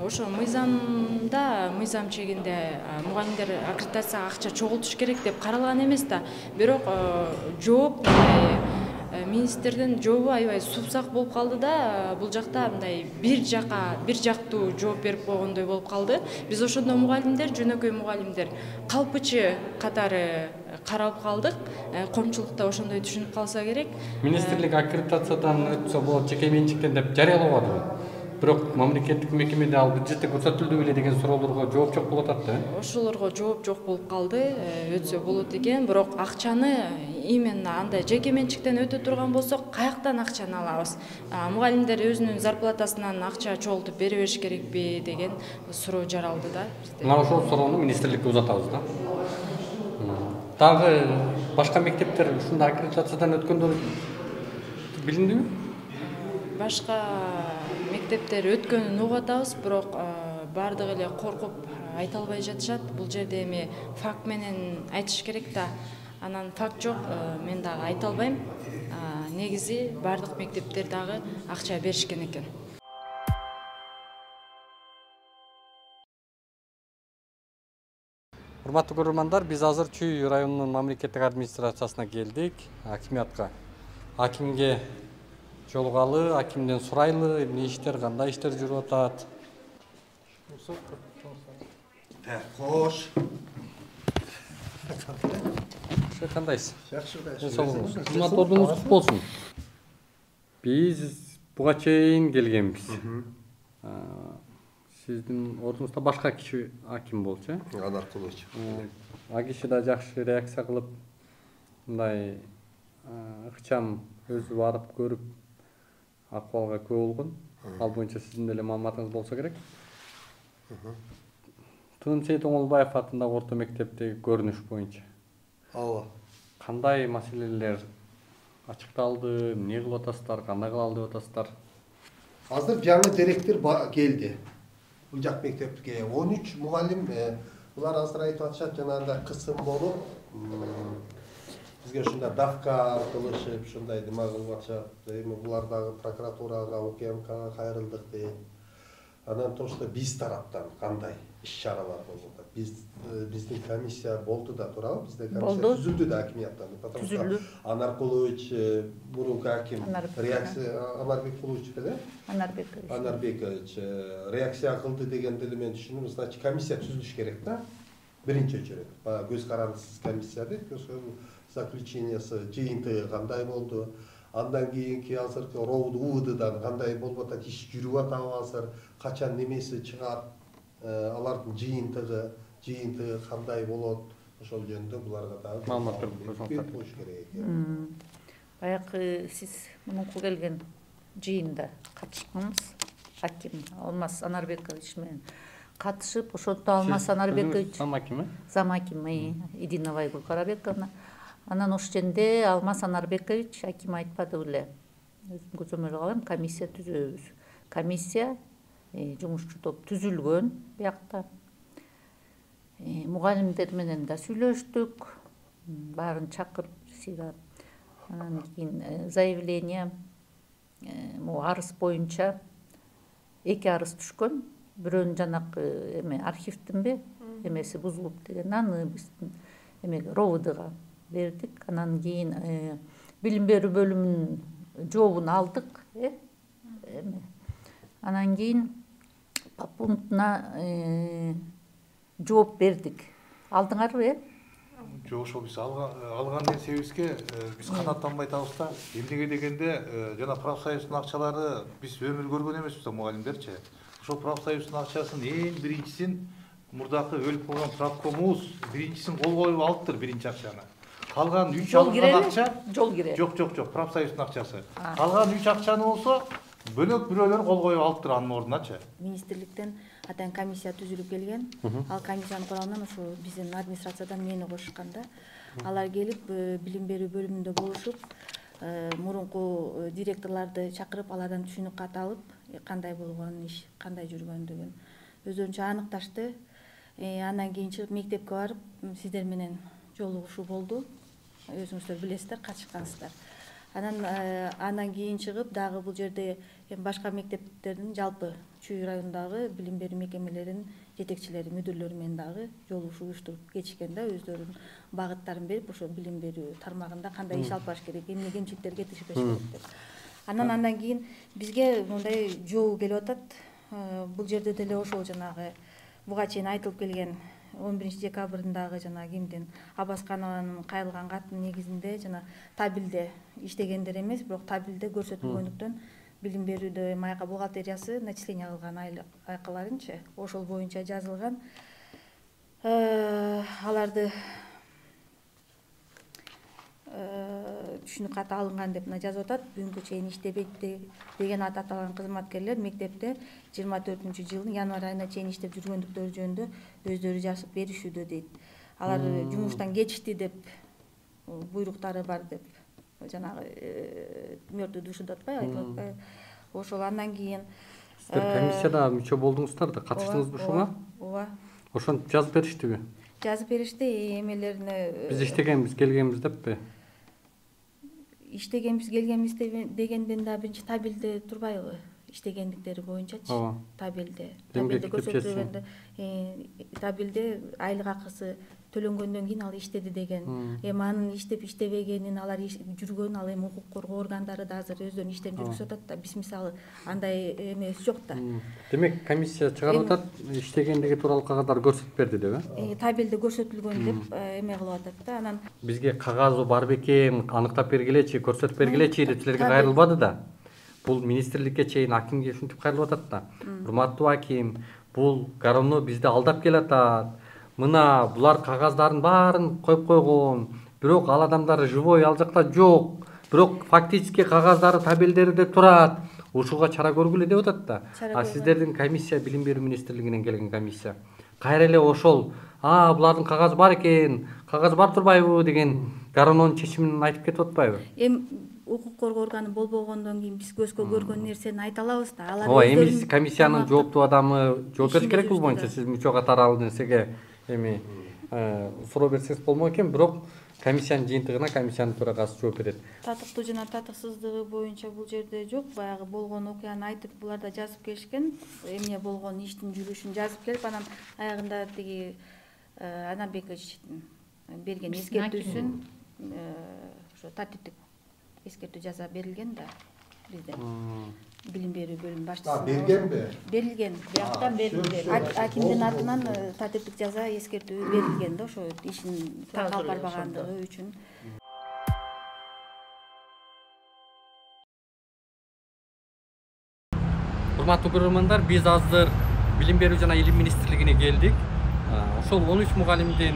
Ошо мыйзамда, мыйзам чегинде мугалимдер аккредитацияга акча чогултуш керек деп каралган эмес да. Бирок жооп министрдин жообу аябай супсак болуп калды да. Бул жакта мындай бир жака, бир жактуу жооп берип койгондой болуп калды. Биз ошондо мугалимдер, жөнөкөй мугалимдер калпычы катары каралып калдык. Коомчулукта ошондой түшүнүп калса керек. Министрлик аккредитациядан өтсө болот, жеке менчиктен деп жарыялабады. Бирок мамлекеттик мекемеде ал бюджетте көрсөтүлдү беле деген суроолорго жооп жок болуп атат да. Ошолорго жооп жок болуп калды. Өтсө болот экен, бирок акчаны именно андай жеке менчиктен өтө турган болсок, каяктан акчаны алабыз? Мугалимдер өзүнүн зарплатасынан акча чогултуп бере бериш керекпи деген суроо жаралды да. Мына ошол суроону министрликке узатабыз да. Дагы башка мектептер ушундай аккредитациядан өткөндөр билиндиби? Башка мектептер өткөнүн угуп атабыз, бирок баардыгы эле коркуп айта албай жатышат. Бул жерде эми факт менен айтыш керек да. Анан факт жок, мен дагы айта албайм. Негизи баардык мектептер дагы акча беришкен экен. Урматтуу көрөрмандар, биз азыр Чүй районунун мамлекеттик администрациясына келдик, акимиятка. Акимге жолугалы, акимден сурайлы, эмне иштер, кандай иштер жүрүп атат. Кош. Кандайсыз? Жакшы, жакшы. Кызматоруңуз кут болсун. Биз буга чейин келгенбиз. Сиздин ордуңузда башка киши аким болчу, э? Анар Кулыч. А киши да жакшы реакция кылып, мындай ыкчам өзү барып көрүп, акыбалга күбө болгон. Ал боюнча сиздин деле маалыматыңыз болсо керек. Тынымсейит Оңолбаев атындагы орто мектептеги көрүнүш боюнча. Ооба. Кандай маселелер ачыкталды, эмне кылып атасыздар, кандай кылалы деп атасыздар? Азыр жаңы директор келди. Бул жак мектепке он үч мугалим, булар азыр айтып атышат, жанагындай кысым болуп, бизге ушундай давка кылышып, ушундай нема кылып атышат. Эми булар дагы прокуратурага, УКМКга кайрылдык дейт. Анан тошто биз тараптан кандай иш-чаралар болуп атат? Биз биздин комиссия болду да туурабы? Бизде комиссия түзүлдү да акимияттан. Потому что Анар Кулыч, мурунку аким, реакция Анарбек Кулыч беле? Анарбекович. Анарбекович реакция кылды дегенди эле мен түшүндүм. Значит, комиссия түзүлүш керек да. Биринчи очередь. Баягы көз карандысыз комиссия дейт. Заключениясы, жыйынтыгы кандай болду? Андан кийинки азыркы ровд УВДдан кандай болуп атат, иш жүрүп атабы азыр, качан немеси чыгат, алардын жыйынтыгы, жыйынтыгы кандай болот, ошол жөнүндө буларга дагы маалымат берип коюш керек экен. Баягы сиз мурунку келген жыйында катышкансыз, аким Алмаз Анарбекович менен катышып, ошондо Алмаз Анарбекович зам аким, зам аким Идина Айгүл Карабековна. Анан ошол жерде Алмаз Анарбекович аким айтпады беле. Өзүм көзөмөл кылам, комиссия түзөбүз. Комиссия жумушчу топ түзүлгөн биякта. Мугалимдер менен да сүйлөштүк, баарын чакырып сыйгап. Анан кийин заявление, могу арыз боюнча эки арыз түшкөн. Бирөөнүн жанакы эме архивдинби эмеси бузулуп деген, аны биздин эмеге ровдга бердик. Анан кийин билим берүү бөлүмүнүн жообун алдык. Эме анан кийин по пунктуна жооп бердик. Алдыңарбы, э? Жок, ошол биз алган нерсебизге биз канааттанбай атабыз да. Эмнеге дегенде жана профсоюздун акчалары биз өмүр көргөн эмеспиз да, мугалимдерчи. Ошол профсоюздун акчасын эң биринчисин мурдакы өлүп калган правкомубуз биринчисин кол коюп алыптыр, биринчи акчаны. Калган үч алынган акча жол кире. Жок, жок, жок, профсоюздун акчасы. Калган үч акчаны болсо бөлөк бирөөлөр кол коюп алыптыр анын ордуначы. Министрликтен атайын комиссия түзүлүп келген. Ал комиссиянын курамынан ошо биздин администрациядан мени кошушкан да. Алар келип билим берүү бөлүмүндө болушуп, мурунку директорлорду чакырып, алардан түшүнүк кат алып, кандай болгон иш, кандай жүргөндүгүн өздөрүнчө аныкташты. Андан кийин чыгып мектепке барып, сиздер менен жолугушуу болду. Өзүңүздөр билесиздер, катышкансыздар. Анан андан кийин чыгып дагы бул жерде башка мектептердин, жалпы Чүй районундагы билим берүү мекемелеринин жетекчилери, мүдүрлөрү менен дагы жолугушуу уюштуруп кетишкен да, өздөрүнүн багыттарын берип, ошо билим берүү тармагында кандай иш алып барыш керек, эмне кемчиликтерге тишпеш керек деп. Анан андан кийин бизге мындай жоо келип атат. Бул жерде деле ошол жанагы буга чейин айтылып келген он биринчи декабрындагы жана кимдин Абасканованын кайрылган катынын негизинде жана табилде иштегендер эмес, бирок табилде көрсөтүлгөндүктөн билим берүүдө майка бухгалтериясы начисление кылган айкаларынчы ошол боюнча жазылган. Аларды түшүнүк каты алынган деп жазып атат. Бүгүнкү чейин иштебейт деген ат аталган кызматкерлер мектепте жыйырма төртүнчү жылдын январь айына чейин иштеп жүргөндүктөрү жөнүндө өздөрү жазып беришүүдө дейт. Алар жумуштан кетишти деп, буйруктары бар деп, жанагы мертвый душу деп атпайбы, айтылып атпайбы. Ошол андан кийин сиздер комиссияда мүчө болдуңуздар да, катыштыңызбы ушуга? Ооба. Ошентип жазып бериштиби? Жазып беришти, эмелерине Биз иштегенбиз, келгенбиз деппи? Иштегенбиз, келгенбиз дегенден да биринчи табилде турбайбы? Иштегендиктери боюнчачы. Табилде. Табилде көрсөтүлгөндө, табилде айлык акысы төлөнгөндөн кийин ал иштеди деген. Эми анын иштеп иштебегенин, алар жүргөн, ал эми укук коргоо органдары да азыр өздөрүнүн иштерин жүргүзүп атат да. Биз мисалы андай эмес жок да. Демек комиссия чыгарып атат, иштегендиги тууралуу кагаздар көрсөтүп берди деп, э? Табилде көрсөтүлгөн деп эме кылып атат да. Анан бизге кагазы бар бекен, аныктап бергилечи, көрсөтүп бергилечи деп силерге кайрылбады да. Бул министрликке чейин акимге ушинтип кайрылып атат да. Урматтуу аким, бул Горовной бизди алдап келатат. Мына булар кагаздарын баарын коюп койгон. Бирок ал адамдар живой ал жакта жок. Бирок фактически кагаздары табелдерде турат. Ушуга чара көргүлө деп атат да. А сиздердин комиссия, билим берүү министрлигинен келген комиссия, кайра эле ошол, а булардын кагазы бар экен, кагаз бар турбайбы деген Горовнойдун чечимин айтып кетип атпайбы? Эми укук коргоо органы болбогондон кийин биз көзгө көргөн нерсени айта алабыз да. Алар ооба, эми сиз комиссиянын жооптуу адамы жооп бериш керек бул боюнча. Сиз мүчө катары ал нерсеге эми суроо берсеңиз болмок экен, бирок комиссиянын жыйынтыгына комиссиянын төрагасы жооп берет. Татыктуу жана татыксыздыгы боюнча бул жерде жок. Баягы болгон окуяны айтып, булар да жазып келишкен. Эмне болгон, иштин жүрүшүн жазып келип, анан аягында тиги Анарбековичтин берген эскертүүсүн ошо тартиптик эскертүү жаза берилген да бизде. Билим берүү бөлүмү башчысы. Бергенби? Берилген. Бияктан берилди. Акимдин атынан тартиптик жаза эскертүү берилген да, ошо ишин калп барбагандыгы үчүн. урматтуу көрөрмандар, биз азыр Билим берүү жана илим министрлигине келдик. Ошол он үч мугалимдин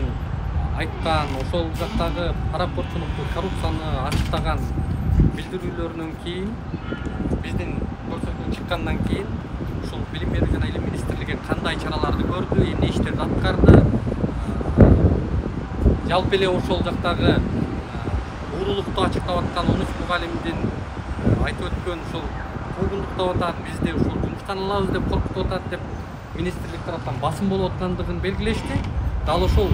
айткан, ошол жактагы паракорчулукту, коррупцияны ачыктаган билдирүүлөрүнөн кийин, биздин көрсөтүү чыккандан кийин, ушул Билим берүү жана илим министрлиги кандай чараларды көрдү, эмне иштерди аткарды, жалпы эле ошол жактагы уурулукту ачыктап аткан он үч мугалимдин айтып өткөн ушул куугунтуктап атат, бизди ушул жумуштан алабыз деп коркутуп атат деп министрлик тараптан басым болуп аткандыгын белгилешти. Дал ошол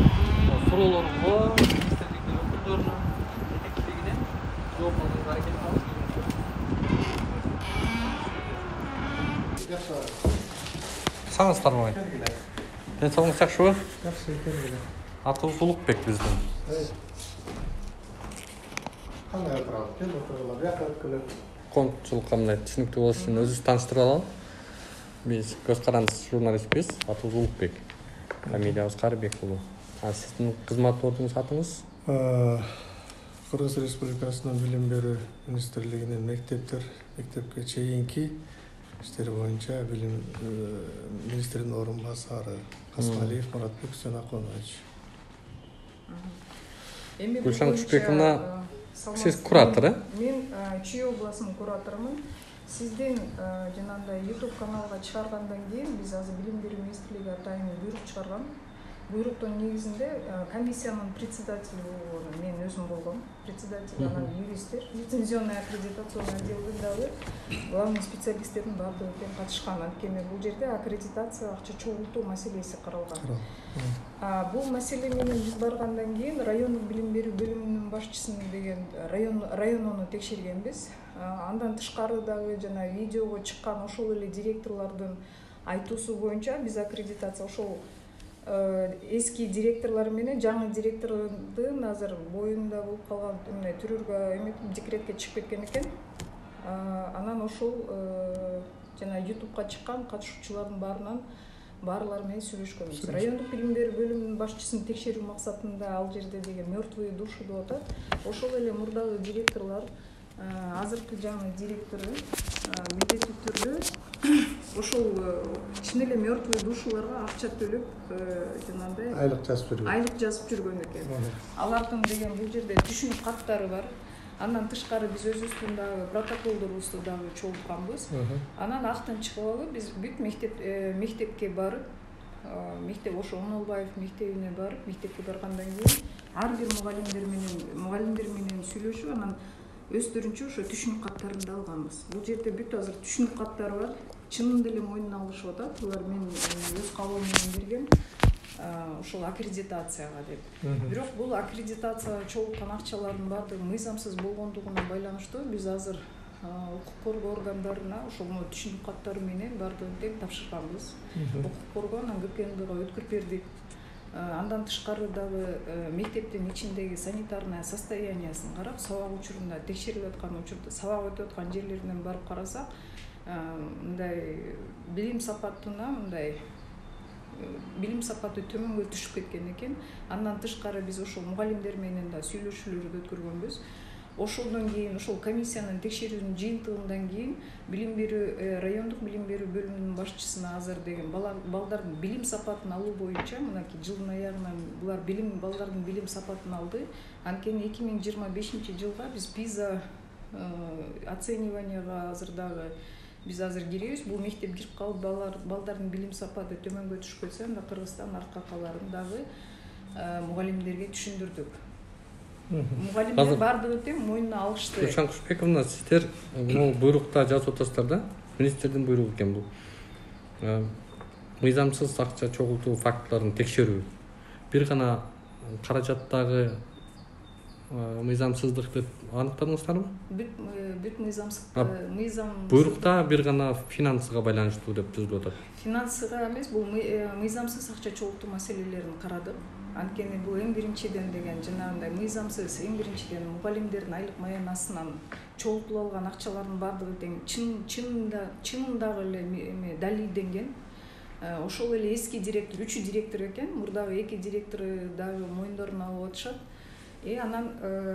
суроолорго министрликтин өкүлдөрүнө жетекчилигинен жооп алганга аракет кылабыз. Саңыздарбы? Ден соолугуңуз жакшыбы? Жакшы экен. Атыбыз Улукбек биздин. Кандай отурабыз? Кел отургула, бияка өткүлө. Коомчулукка мындай түшүнүктүү болуш үчүн өзүбүздү тааныштырып алалы. Биз көз карандысыз журналистпиз. Атыбыз Улукбек. Фамилиябыз Карыбек уулу. А сиздин кызмат ордуңуз, атыңыз? Кыргыз Республикасынын Билим берүү министрлигинин мектептер, мектепке чейинки иштер боюнча билим министринин орун басары Касмалиев Муратбек Сөнаконович. Гүлшан Кушбековна, сиз куратор, э? Мен Чүй областынын кураторумун. Сиздин жанагындай YouTube каналга чыгаргандан кийин биз азыр Билим берүү министрлиги атайын буйрук чыгарган. Буйруктун негизинде комиссиянын председатели болгону мен өзүм болгом. Председатель анан юристтер, лицензионный аккредитационный отделдин дагы главный специалисттердин баардыгы тең катышкан. Анткени бул жерде аккредитация, акча чогултуу маселеси каралган. Бул маселе менен биз баргандан кийин райондук билим берүү бөлүмүнүн башчысын деген район районуну текшергенбиз. Андан тышкары дагы жана видеого чыккан ошол эле директорлордун айтуусу боюнча биз аккредитация ошол эски директорлор менен жаңы директордун азыр боюнда болуп калган эмне түрүргө эметип декретке чыгып кеткен экен. Анан ошол жана ютубка чыккан катышуучулардын баарынан баарлар менен сүйлөшкөнбүз. Райондук билим берүү бөлүмүнүн башчысын текшерүү максатында ал жерде деген мертвые души деп атат. Ошол эле мурдагы директорлор, азыркы жаңы директору милдеттүү түрдө ошол чын эле мертвый душиларга акча төлөп жанагындай айлык жазып жүргөн. Айлык жазып жүргөн экен. Алардын деген бул жерде түшүнүк каттары бар. Андан тышкары биз өзүбүздүн дагы протоколдорубузду дагы чогултканбыз. Анан актан чыгып алып биз бүт мектеп мектепке барып, мектеп ошо Онолбаев мектебине барып, мектепке баргандан кийин ар бир мугалимдер менен мугалимдер менен сүйлөшүп, анан өздөрүнчө ошо түшүнүк каттарын да алганбыз. Бул жерде бүт азыр түшүнүк каттары бар. Чынында эле мойнуна алышып атат. Булар мен өз кабыл менен берген ошол аккредитацияга деп. Бирок бул аккредитацияга чогулткан акчалардын баардыгы мыйзамсыз болгондугуна байланыштуу биз азыр укук коргоо органдарына ошол түшүнүк каттары менен баардыгын тең тапшырганбыз. Укук коргоо анан ГКМГга өткөрүп бердик. Андан тышкары дагы мектептин ичиндеги санитарный состояниясын карап, сабак учурунда текшерилип аткан учурда, сабак өтүп аткан жерлеринен барып карасак, мындай билим сапатына мындай билим сапаты төмөнгө түшүп кеткен экен. Андан тышкары биз ошол мугалимдер менен да сүйлөшүүлөрдү өткөргөнбүз. Ошондон кийин ошол комиссиянын текшерүүнүн жыйынтыгынан кийин билим берүү райондук билим берүү бөлүмүнүн башчысына азыр деген балдардын билим сапатын алуу боюнча мынакей жылдын аягынан булар билим балдардын билим сапатын алды. Анткени эки миң жыйырма бешинчи жылга биз пиза оцениванияга азыр дагы биз азыр киребиз. Бул мектеп кирип калып балдардын билим сапаты төмөнгө түшүп кетсе, анда Кыргызстан арка каларын дагы мугалимдерге түшүндүрдүк. Мугалимдер баардыгы тең мойнуна алышты. Гүлшан Кушбековна, сиздер бул буйрукта жазып атасыздар да? Министрдин буйругу экен бул. Мыйзамсыз акча чогултуу фактыларын текшерүү. Бир гана каражаттагы мыйзамсыздыкты аныктадыңыздарбы? Бүт бүт мыйзамсыз мыйзам буйрукта бир гана финансыга байланыштуу деп түзүлүп атат. Финансыга эмес, бул мыйзамсыз акча чогултуу маселелерин карадык. Анткени бул эң биринчиден деген жанагындай мыйзамсыз эң биринчиден мугалимдердин айлык маянасынан чогултуп алган акчалардын баардыгы тең чын чынында чынындагы эле эме далилденген. Ошол эле эски директор, үч директор экен, мурдагы эки директору дагы мойындоруна алып атышат. и анан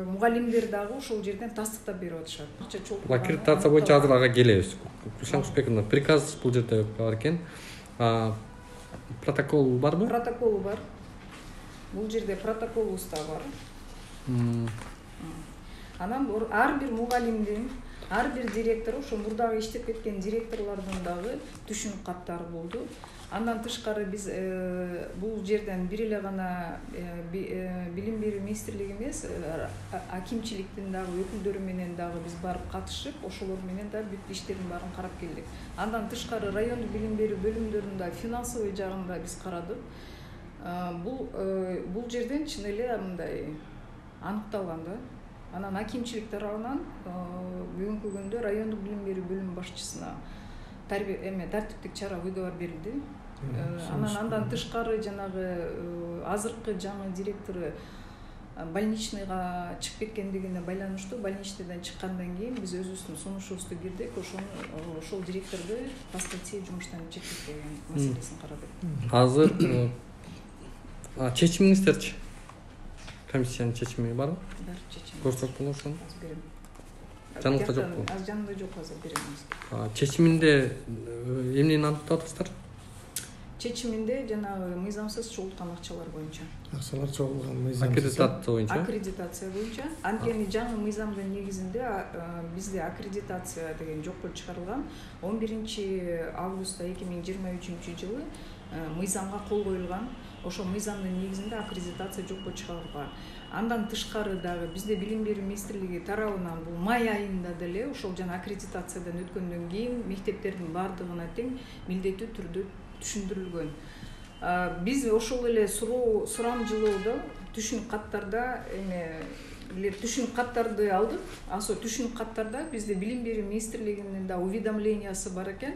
мугалимдер дагы ошол жерден тастыктап берип атышат. Акча чогулткан. Аккредитация боюнча азыр ага келебиз. Гүлшан Кушбековна, приказ бул жерде бар экен. Протокол барбы? Протоколу бар. Бул жерде протоколубуз да бар. Анан ар бир мугалимдин, ар бир директор, ошо мурдагы иштеп кеткен директорлордун дагы түшүнүк каттары болду. Андан тышкары биз бул жерден бир эле гана билим берүү министрлиги эмес, акимчиликтин дагы өкүлдөрү менен дагы биз барып катышып, ошолор менен да бүт иштердин баарын карап келдик. Андан тышкары райондук билим берүү бөлүмдөрүндө финансовый жагын да биз карадык. Бул бул жерден чын эле мындай аныкталган да. Анан акимчилик тарабынан бүгүнкү күндө райондук билим берүү бөлүм башчысына тартиптик чара выговор берилди. Анан андан тышкары жанагы азыркы жаңы директору больничныйга чыгып кеткендигине байланыштуу больничныйдан чыккандан кийин биз өзүбүздүн сунушубузду бирдик, ошону ошол директорду по статье жумуштан чектеткен маселесин карадык. Азыр чечимиңиздерчи? Комиссиянын чечими барбы? Бар, чечим. Көрсөк болот ошону. Берем. Жаныңызда жокпу? Аз жанымда жок, азыр берем. Чечиминде эмнени аныктап атасыздар? Чечиминде жанагы мыйзамсыз чогулткан акчалар боюнча. Акчалар чогулган мыйзамсыз. Аккредитация боюнча. Аккредитация боюнча. Анткени жаңы мыйзамдын негизинде бизде аккредитация деген жокко чыгарылган. он биринчи августта эки миң жыйырма үчүнчү жылы мыйзамга кол коюлган. Ошол мыйзамдын негизинде аккредитация жокко чыгарылган. Андан тышкары дагы бизде билим берүү министрлиги тарабынан бул май айында деле ошол жана аккредитациядан өткөндөн кийин мектептердин баардыгына тең милдеттүү түрдө түшүндүрүлгөн. Биз ошол эле суроо сурамжылоодо түшүнүк каттарда эме түшүнүк каттарды алдык. Ошо түшүнүк каттарда бизде билим берүү министрлигинин да уведомлениясы бар экен.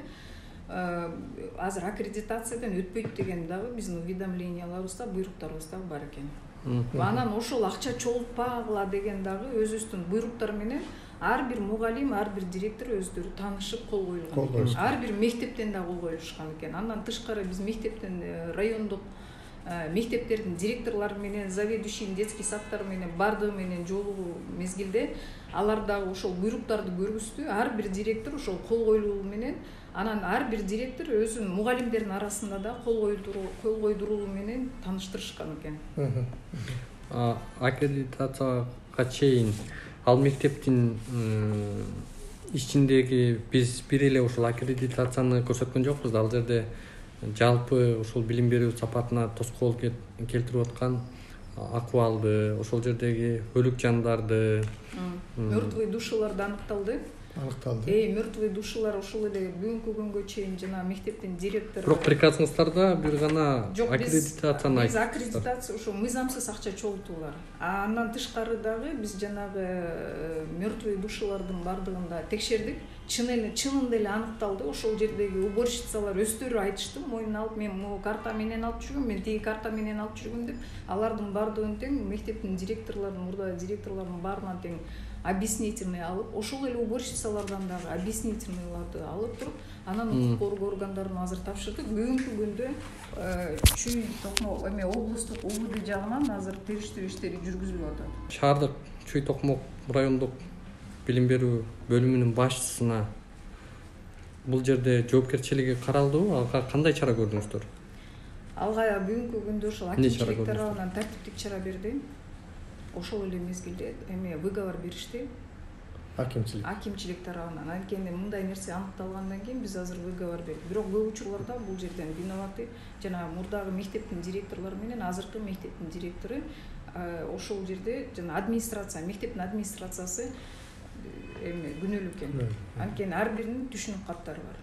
Азыр аккредитациядан өтпөйт деген дагы биздин уведомленияларыбызда, буйруктарыбызда бар экен. Анан ошол акча чогултпагыла деген дагы өзүбүздүн буйруктар менен ар бир мугалим, ар бир директор өздөрү таанышып кол коюлган. Ар бир мектептен да кол коюлушкан экен. Андан тышкары биз мектептен райондук мектептердин директорлору менен, заведующий детский садтар менен бардыгы менен жолугуу мезгилде алар дагы ошол буйруктарды көргүздү. Ар бир директор ошол кол коюлуу менен анан ар бир директор өзүнүн мугалимдердин арасында да кол койдуруу менен тааныштырышкан экен. Аккредитацияга чейин ал мектептин ичиндеги биз бир эле ошол аккредитацияны көрсөткөн жокпуз да. Ал жерде жалпы ошол билим берүү сапатына тоскоол келтирип аткан акыбалды, ошол жердеги өлүк жандарды, мертвый душаларды аныкталды. Аныкталды. Эй, мертвый душалар ошол эле бүгүнкү күнгө чейин жана мектептин директору. Бирок приказыңыздарда бир гана аккредитацияны айтып. Биз аккредитация ошо мыйзамсыз акча чогултуулар. Андан тышкары дагы биз жанагы мертвый душалардын бардыгын да текшердик. Чын эле чынында эле аныкталды. Ошол жердеги уборщицалар өздөрү айтышты, мойнуна алып, мен могу карта менен алып жүргөм, мен тиги карта менен алып жүргөм деп. Алардын бардыгын тең мектептин директорлорунун, мурда директорлордун баарынан тең объяснительный алып, ошол эле уборщицалардан дагы объяснительныйларды алып туруп, анан укук коргоо органдарына азыр тапшырдык. Бүгүнкү күндө Чүй Токмок эме облустук УВД жагынан азыр териштирүү иштери жүргүзүлүп атат. Шаардык Чүй Токмок райондук билим берүү бөлүмүнүн башчысына бул жерде жоопкерчилиги каралдыбы? Ага кандай чара көрдүңүздөр? Алга бүгүнкү күндө ошол акимчилик тарабынан тартиптик чара берди. Ошол эле мезгилде эме выговор беришти. Акимчилик. Акимчилик тарабынан. Анткени мындай нерсе аныкталгандан кийин биз азыр выговор бердик. Бирок көп учурларда бул жерден виноваты жана мурдагы мектептин директорлору менен азыркы мектептин директору ошол жерде жана администрация, мектептин администрациясы эме күнөөлүү экен. Анткени ар биринин түшүнүк каттары бар.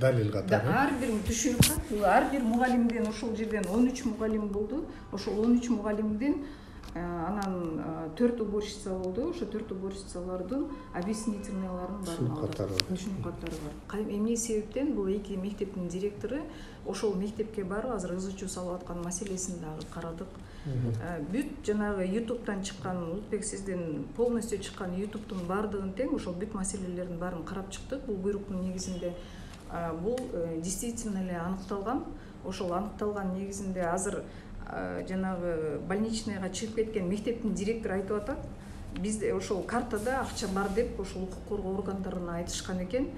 Далил катары. Ар бир түшүнүк кат, ар бир мугалимден ошол жерден он үч мугалим болду. Ошол он үч мугалимден анан төрт уборщица болду. Ошо төрт уборщицалардын объяснительныйларын баарын алды. Түшүнүк каттары бар. Эмне себептен бул эки мектептин директору ошол мектепке барып азыр ыз чуу салып аткан маселесин дагы карадык. Бүт жанагы ютубтан чыккан, Улукбек сиздин полностью чыккан ютубтун баардыгын тең ошол бүт маселелердин баарын карап чыктык. Бул буйруктун негизинде бул действительно эле аныкталган. Ошол аныкталган негизинде азыр жанагы больничныйга чыгып кеткен мектептин директору айтып атат, бизде ошол картада акча бар деп ошол укук коргоо органдарына айтышкан экен.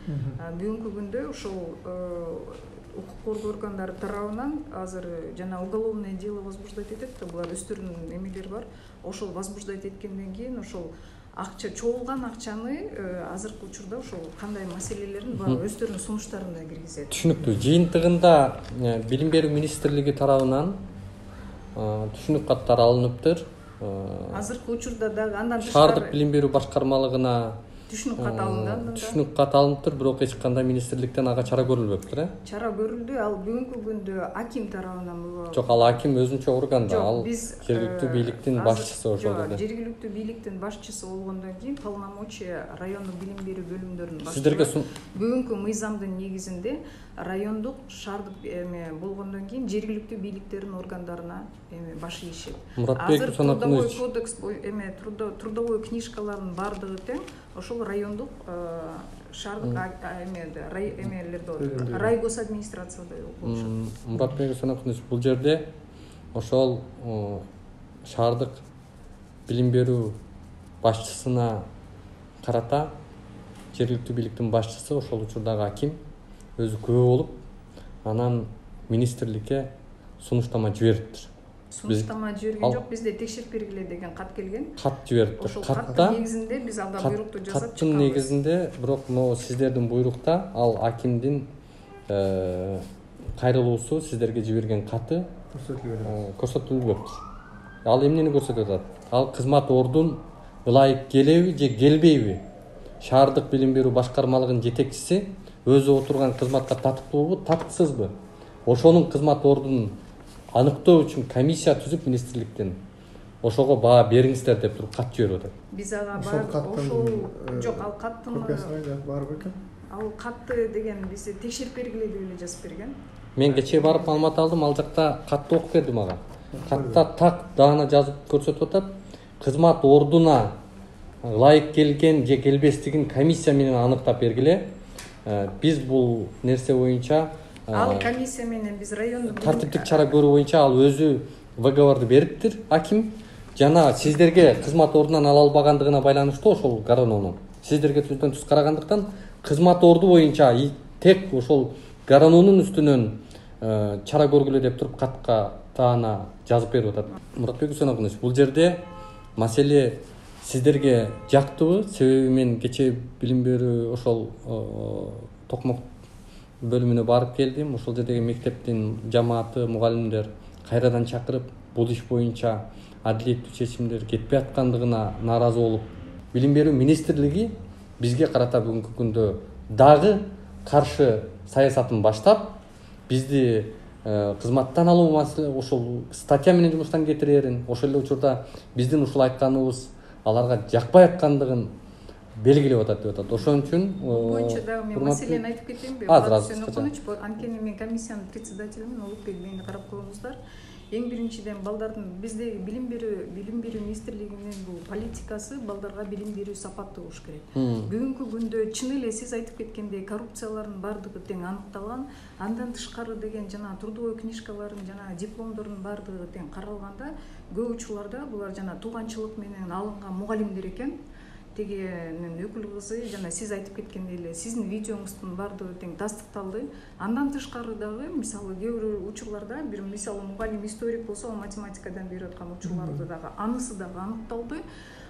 Бүгүнкү күндө ошол укук коргоо органдары тарабынан азыр жана уголовное дело возбуждать этет да, булар өздөрүнүн эмелери бар. Ошол возбуждать эткенден кийин ошол акча чогулган акчаны азыркы учурда ошол кандай маселелерин баягы өздөрүнүн сунуштарына киргизет. Түшүнүктүү. Жыйынтыгында билим берүү министрлиги тарабынан түшүнүк каттары алыныптыр. Азыркы учурда дагы андан шаардык билим берүү башкармалыгына түшүнүк кат алынды. Түшүнүк кат алыныптыр, бирок эч кандай министрликтен ага чара көрүлбөптүр, э? Чара көрүлдү, ал бүгүнкү күндө аким тарабынан було. Жок, ал аким өзүнчө орган да, ал жергиликтүү бийликтин башчысы ошол жерде. Жергиликтүү бийликтин башчысы болгондон кийин полномочия райондук билим берүү бөлүмдөрүнүн башчысы. Сиздерге бүгүнкү мыйзамдын негизинде райондук, шаардык эме болгондон кийин жергиликтүү бийликтердин органдарына эме баш ийишет. Азыр трудовой кодекс эме трудовой книжкалардын баардыгы тең ошол райондук, шаардык эме эмелерде райгос администрацияда болушат. Муратбек Усманович, бул жерде ошол шаардык билим берүү башчысына карата жергиликтүү бийликтин башчысы, ошол учурдагы аким өзү күбө болуп, анан министрликке сунуштама жибериптир. Сунуштама жиберген жок, бизде текшерип бергиле деген кат келген. Кат жибериптир. Ошол каттын негизинде биз ага буйрукту жасап чыкканбыз. Каттын негизинде, бирок могу сиздердин буйрукта ал акимдин кайрылуусу, сиздерге жиберген каты көрсөтүлбөптүр. Ал эмнени көрсөтүп атат? Ал кызмат ордун ылайык келеби же келбейби? Шаардык билим берүү башкармалыгынын жетекчиси өзү отурган кызматка татыктуубу, татыксызбы? Ошонун кызмат ордунун аныктоо үчүн комиссия түзүп министрликтен ошого баа бериңиздер деп туруп кат жиберип атат. Биз ага бар ошол жок, ал каттын бар бекен? Ал катты деген биз текшерип бергиле деп эле жазып берген. Мен кечээ барып маалымат алдым, ал жакта катты окуп берди мага. Катта так даана жазып көрсөтүп атат. Кызмат ордуна ылайык келген же келбестигин комиссия менен аныктап бергиле. Биз бул нерсе боюнча ал комиссия менен биз райондук тартиптик чара көрүү боюнча ал өзү выговорду бериптир, аким. Жана сиздерге кызмат ордунан ала албагандыгына байланыштуу ошол Гарононун сиздерге түздөн түз карагандыктан кызмат орду боюнча тек ошол Гарононун үстүнөн чара көргүлө деп туруп катка таана жазып берип атат. Муратбек Усманович, бул жерде маселе сиздерге жактыбы? Себеби мен кечээ билим берүү ошол Токмок бөлүмүнө барып келдим. Ошол жердеги мектептин жамааты, мугалимдер кайрадан чакырып, бул иш боюнча адилеттүү чечимдер кетпей аткандыгына нааразы болуп, билим берүү министрлиги бизге карата бүгүнкү күндө дагы каршы саясатын баштап, бизди кызматтан алуу маселе ошол статья менен жумуштан кетирерин, ошол эле учурда биздин ушул айтканыбыз аларга жакпай аткандыгын белгилеп атат деп атат. Ошон үчүн боюнча дагы мен маселени айтып кетейинби? Азыр азыр. Анткени мен комиссиянын председателимин, Улукбек мени карап коюңуздар. Эң биринчиден балдардын биздеги билим берүү билим берүү министрлигинин бул политикасы балдарга билим берүү сапаттуу болуш керек. Бүгүнкү күндө чын эле сиз айтып кеткендей коррупциялардын баардыгы тең аныкталган. Андан тышкары деген жана трудовой книжкалардын жана дипломдордун баардыгы тең каралганда, көп учурларда булар жана тууганчылык менен алынган мугалимдер экен. Тегинин өкүл кызы жана сиз айтып кеткендей эле сиздин видеоңуздун баардыгы тең тастыкталды. Андан тышкары дагы мисалы кээ бир учурларда бир мисалы мугалим историк болсо, ал математикадан берип аткан учурларды дагы анысы дагы аныкталды.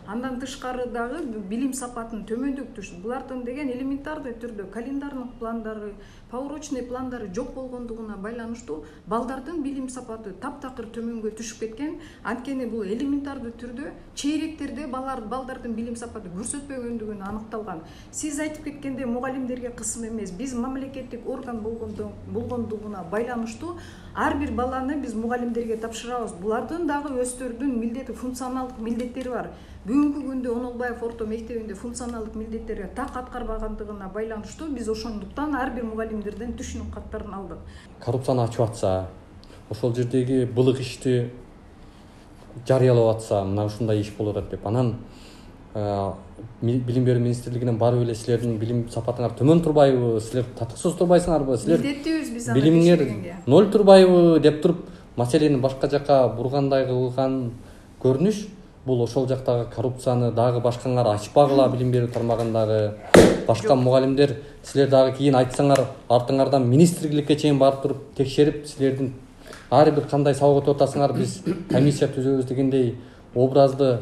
Андан тышкары дагы билим сапатын төмөндөтүш. Булардын деген элементарный түрдө календарный пландары, поурочный пландары жок болгондугуна байланыштуу балдардын билим сапаты таптакыр төмөнгө түшүп кеткен. Анткени бул элементардуу түрдө чейректерде балдар балдардын билим сапаты көрсөтпөгөндүгүн аныкталган. Сиз айтып кеткенде мугалимдерге кысым эмес, биз мамлекеттик орган болгондугуна байланыштуу ар бир баланы биз мугалимдерге тапшырабыз. Булардын дагы өздөрүнүн милдети, функционалдык милдеттери бар. Бүгүнкү күндө Онолбаев орто мектебинде функционалдык милдеттерди так аткарбагандыгына байланыштуу биз ошондуктан ар бир мугалимдерден түшүнүк каттарын алдык. Коррупцияны ачып атса, ошол жердеги былык ишти жарыялап атса, мына ушундай иш болот деп, анан билим берүү министрлигинен барып эле силердин билим сапатыңар төмөн турбайбы, силер татыксыз турбайсыңарбы, силер милдеттүүбүз биз билимиңер ноль турбайбы деп туруп маселени башка жака бургандай кылган көрүнүш бул ошол жактагы коррупцияны дагы башкаңар ачпагыла билим берүү тармагындагы башка мугалимдер силер дагы кийин айтсаңар артыңардан министрликке чейин барып туруп текшерип силердин ар бир кандай сабак өтүп атасыңар биз комиссия түзөбүз дегендей образды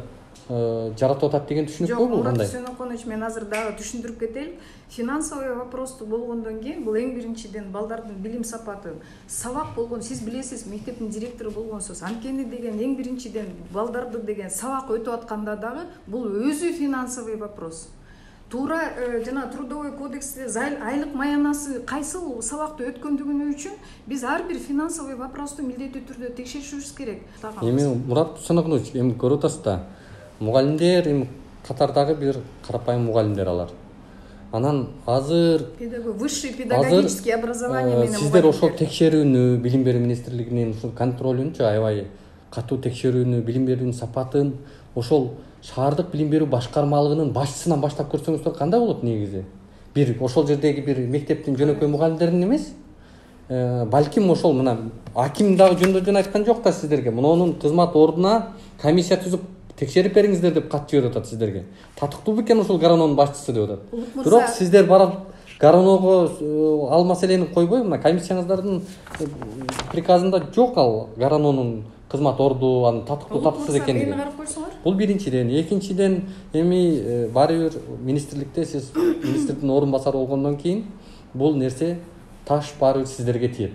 жаратып атат деген түшүнүк бул Мурат кандай? Үсенович, мен азыр дагы түшүндүрүп кетейин. Финансовый вопрос болгондон кийин бул эң биринчиден балдардын билим сапаты. Сабак болгон, сиз билесиз, мектептин директору болгонсуз. Анткени деген эң биринчиден балдарды деген сабак өтүп атканда дагы бул өзү финансовый вопрос. Туура жана трудовой кодексте айлык маянасы кайсыл сабакты өткөндүгүнү үчүн биз ар бир финансовый вопросту милдеттүү түрдө текшеришибиз керек. Эми Мурат Үсенович, эми көрүп атасыз да, мугалимдер эми катардагы бир карапайым мугалимдер алар. Анан азыр высший педагогический образование менен сиздер ошол текшерүүнү, билим берүү министрлигинин ушул контролүнчү аябай катуу текшерүүнү, билим берүүнүн сапатын ошол шаардык билим берүү башкармалыгынын башчысынан баштап көрсөңүздөр кандай болот негизи? Бир ошол жердеги бир мектептин жөнөкөй мугалимдерин эмес, балким ошол мына аким дагы жөндөн жөн айткан жок да сиздерге. Мунунун кызмат ордуна комиссия түзүп текшерип бериңиздер деп кат жиберип атат сиздерге. Татыктуу бекен ушул Гарононун башчысы деп атат. Бирок сиздер барып Гароного ал маселени койбой, мына комиссияңыздардын приказында жок ал Гарононун кызмат орду, анын татыктуу татыксыз экендиги. Бул биринчиден, экинчиден эми баары бир министрликте сиз министрдин орун басары болгондон кийин бул нерсе таш баары бир сиздерге тиет.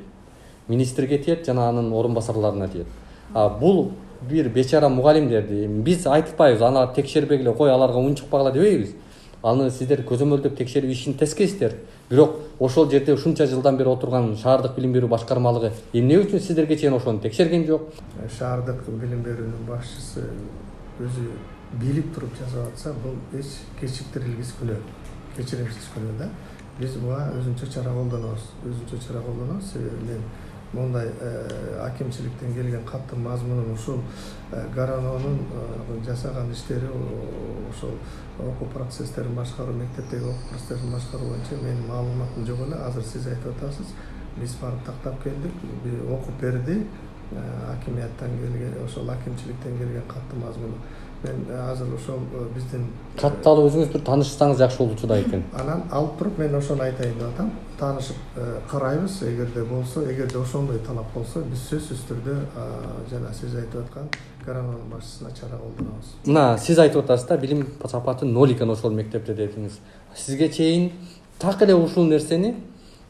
Министрге тиет жана анын орун басарларына тиет. А бул бир бечара мугалимдерди биз айтпайбыз, аны текшербегиле кой, аларга уун чыкпагыла дебейбиз. Аны сиздер көзөмөлдөп текшерип ишин тескейсиздер. Бирок ошол жерде ушунча жылдан бери отурган шаардык билим берүү башкармалыгы эмне үчүн сиздерге чейин ошону текшерген жок? Шаардык билим берүүнүн башчысы өзү билип туруп жасап атса, бул эч кечиктирилгис күнөө, кечиримсиз күнөө да. Биз буга өзүнчө чара колдонобуз, өзүнчө чара колдонобуз. Мен мондай акимчиликтен келген каттын мазмунун ушул Гарононун жасаган иштери, ошол окуу процесстерин башкаруу, мектептеги окуу процесстерин башкаруу боюнча менин маалыматым жок эле. Азыр сиз айтып атасыз, биз барып тактап келдик, окуп берди, акимияттан келген, ошол акимчиликтен келген каттын мазмуну. Мен азыр ошол биздин катты алып өзүңүз бир таанышсаңыз жакшы болчу да экен. Анан алып туруп мен ошону айтайын деп атам. Таанышып карайбыз, эгерде болсо, эгерде ошондой талап болсо, биз сөзсүз түрдө жана сиз айтып аткан Гарононун башчысына чара колдонобуз. Мына сиз айтып атасыз да, билим сапаты ноль экен ошол мектепте дедиңиз. Сизге чейин так эле ушул нерсени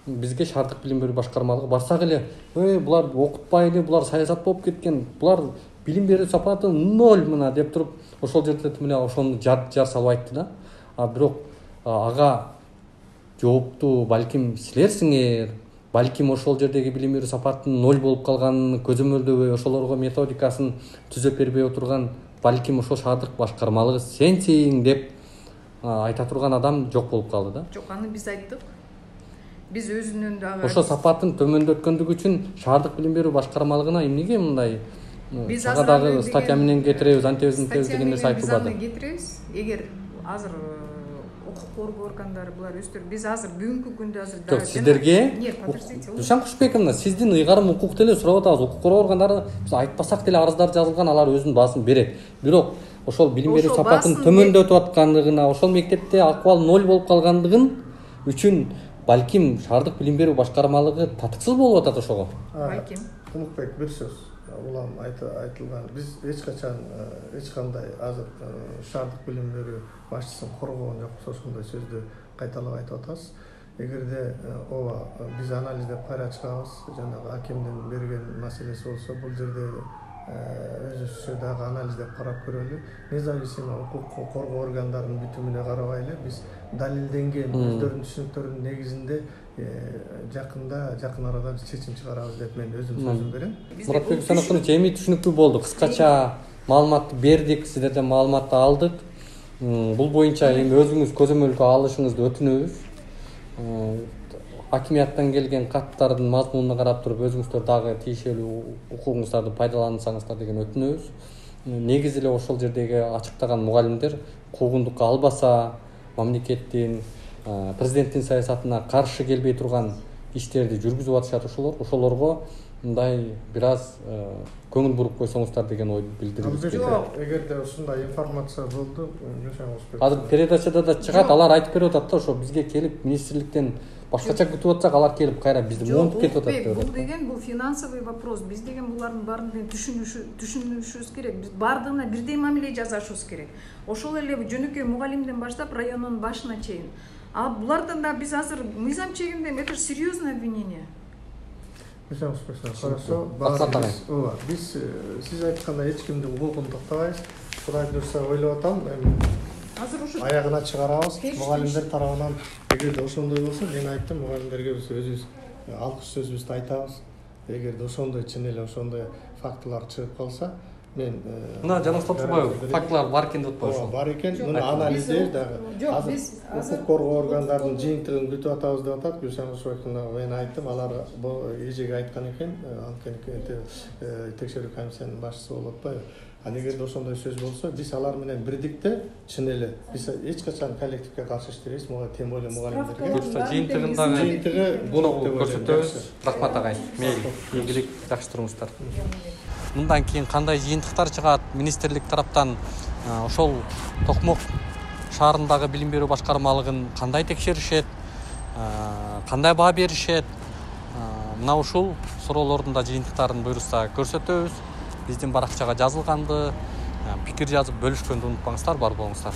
бизге шаардык билим берүү башкармалыгы барсак эле, ой, булар окутпай эле, булар саясат болуп кеткен, булар билим берүү сапаты ноль мына деп туруп ошол жерде тим эле ошону жар жар салып айтты да. А бирок ага жооптуу балким силерсиңер, балким ошол жердеги билим берүү сапатынын ноль болуп калганын көзөмөлдөбөй, ошолорго методикасын түзөп бербей отурган балким ошол шаардык башкармалыгы сенсиң деп айта турган адам жок болуп калды да. Жок, аны биз айттык. Биз өзүнүн дагы ошо сапатын төмөндөткөндүгү үчүн шаардык билим берүү башкармалыгына эмнеге мындай ага дагы статья менен кетиребиз, антебиз мынтебиз деген нерсе айтылбады. Кетиребиз. Эгер азыр укук коргоо органдары булар өздөрү биз азыр бүгүнкү күндө азыр жок сиздерге Душан Кушбековна, сиздин ыйгарым укук деле сурап атабыз. Укук коргоо органдары биз айтпасак деле арыздар жазылган, алар өзүнүн баасын берет. Бирок ошол билим берүү сапатын төмөндөтүп аткандыгына, ошол мектепте акыбал ноль болуп калгандыгын үчүн балким шаардык билим берүү башкармалыгы татыксыз болуп атат ошого. Балким. Кумукбек, бир сөз. Улам айтылган, биз эч качан эч кандай азыр шаардык билим берүү башчысын коргогон жокпуз, ошондой сөздү кайталап айтып атабыз. Эгерде ооба биз анализдеп кайра чыгабыз, жанагы акимдин берген маселеси болсо, бул жерде өзүбүзчө дагы анализдеп карап көрөлү. Независимый укук коргоо органдарынын бүтүмүнө карабай эле биз далилденген өздөрүнүн түшүнүктөрүнүн негизинде жакында жакын арада чечим чыгарабыз деп мен өзүм сөзүм берем. Муратбек Үсенович, эми түшүнүктүү болду. Кыскача маалыматты бердик, сиздерден маалыматты алдык. Бул боюнча эми өзүңүз көзөмөлгө алышыңызды өтүнөбүз. Акимияттан келген каттардын мазмунуна карап туруп өзүңүздөр дагы тиешелүү укугуңуздарды пайдалансаңыздар деген өтүнөбүз. Негизи эле ошол жердеги ачыктаган мугалимдер куугундукка албаса, мамлекеттин президенттин саясатына каршы келбей турган иштерди жүргүзүп атышат ошолор ошолорго мындай бир аз көңүл буруп койсоңуздар деген ой билдиргибиз келди. Жок, эгерде ушундай информация болду, азыр передачада да чыгат, алар айтып берип атат да, ошо бизге келип министрликтен башкача күтүп атсак, алар келип кайра бизди монтуп кетип атат деп атат. Бул деген бул финансовый вопрос. Биз деген булардын баарын түшүнүшүбүз керек. Биз баардыгына бирдей мамиле жасашыбыз керек. Ошол эле жөнөкөй мугалимден баштап райондун башына чейин. А булардан да биз азыр мыйзам чегинде это серьезное обвинение. Хорошо, ооба, биз сиз айткандай эч кимдин укугун токтобойбуз. Кудай буюрса ойлоп атам, азыр ушу аягына чыгарабыз. Мугалимдер тарабынан эгерде ошондой болсо, мен айттым, мугалимдерге биз өзүбүз алкыш сөзүбүздү айтабыз. Эгерде ошондой чын эле ошондой фактылар чыгып калса, мен мына жанагы турбайбы, фактылар бар экен деп атпайбы? Бар экен, муну анализдейбиз дагы. Азыр укук коргоо органдарынын жыйынтыгын күтүп атабыз деп атат. Гүлшан Кушубаевна, мен айттым, алар бул эжеге айткан экен, анткени текшерүү комиссиянын башчысы болуп атпайбы? А эгерде ошондой сөз болсо, биз алар менен бирдикте чын эле биз эч качан коллективге каршы иштебейбиз, муга тем более мугалимдерге. Жыйынтыгындагы жыйынтыгы буну көрсөтөбүз. Рахмат агай. Мейли, ийгилик, жакшы туруңуздар. Мындан кийин кандай жыйынтыктар чыгат, министрлик тараптан ошол Токмок шаарындагы билим берүү башкармалыгын кандай текшеришет, кандай баа беришет, мына ушул суроолордун да жыйынтыктарын буюрса көрсөтөбүз. Биздин баракчага жазылганды, пикир жазып бөлүшкөндү унутпаңыздар, бар болуңуздар.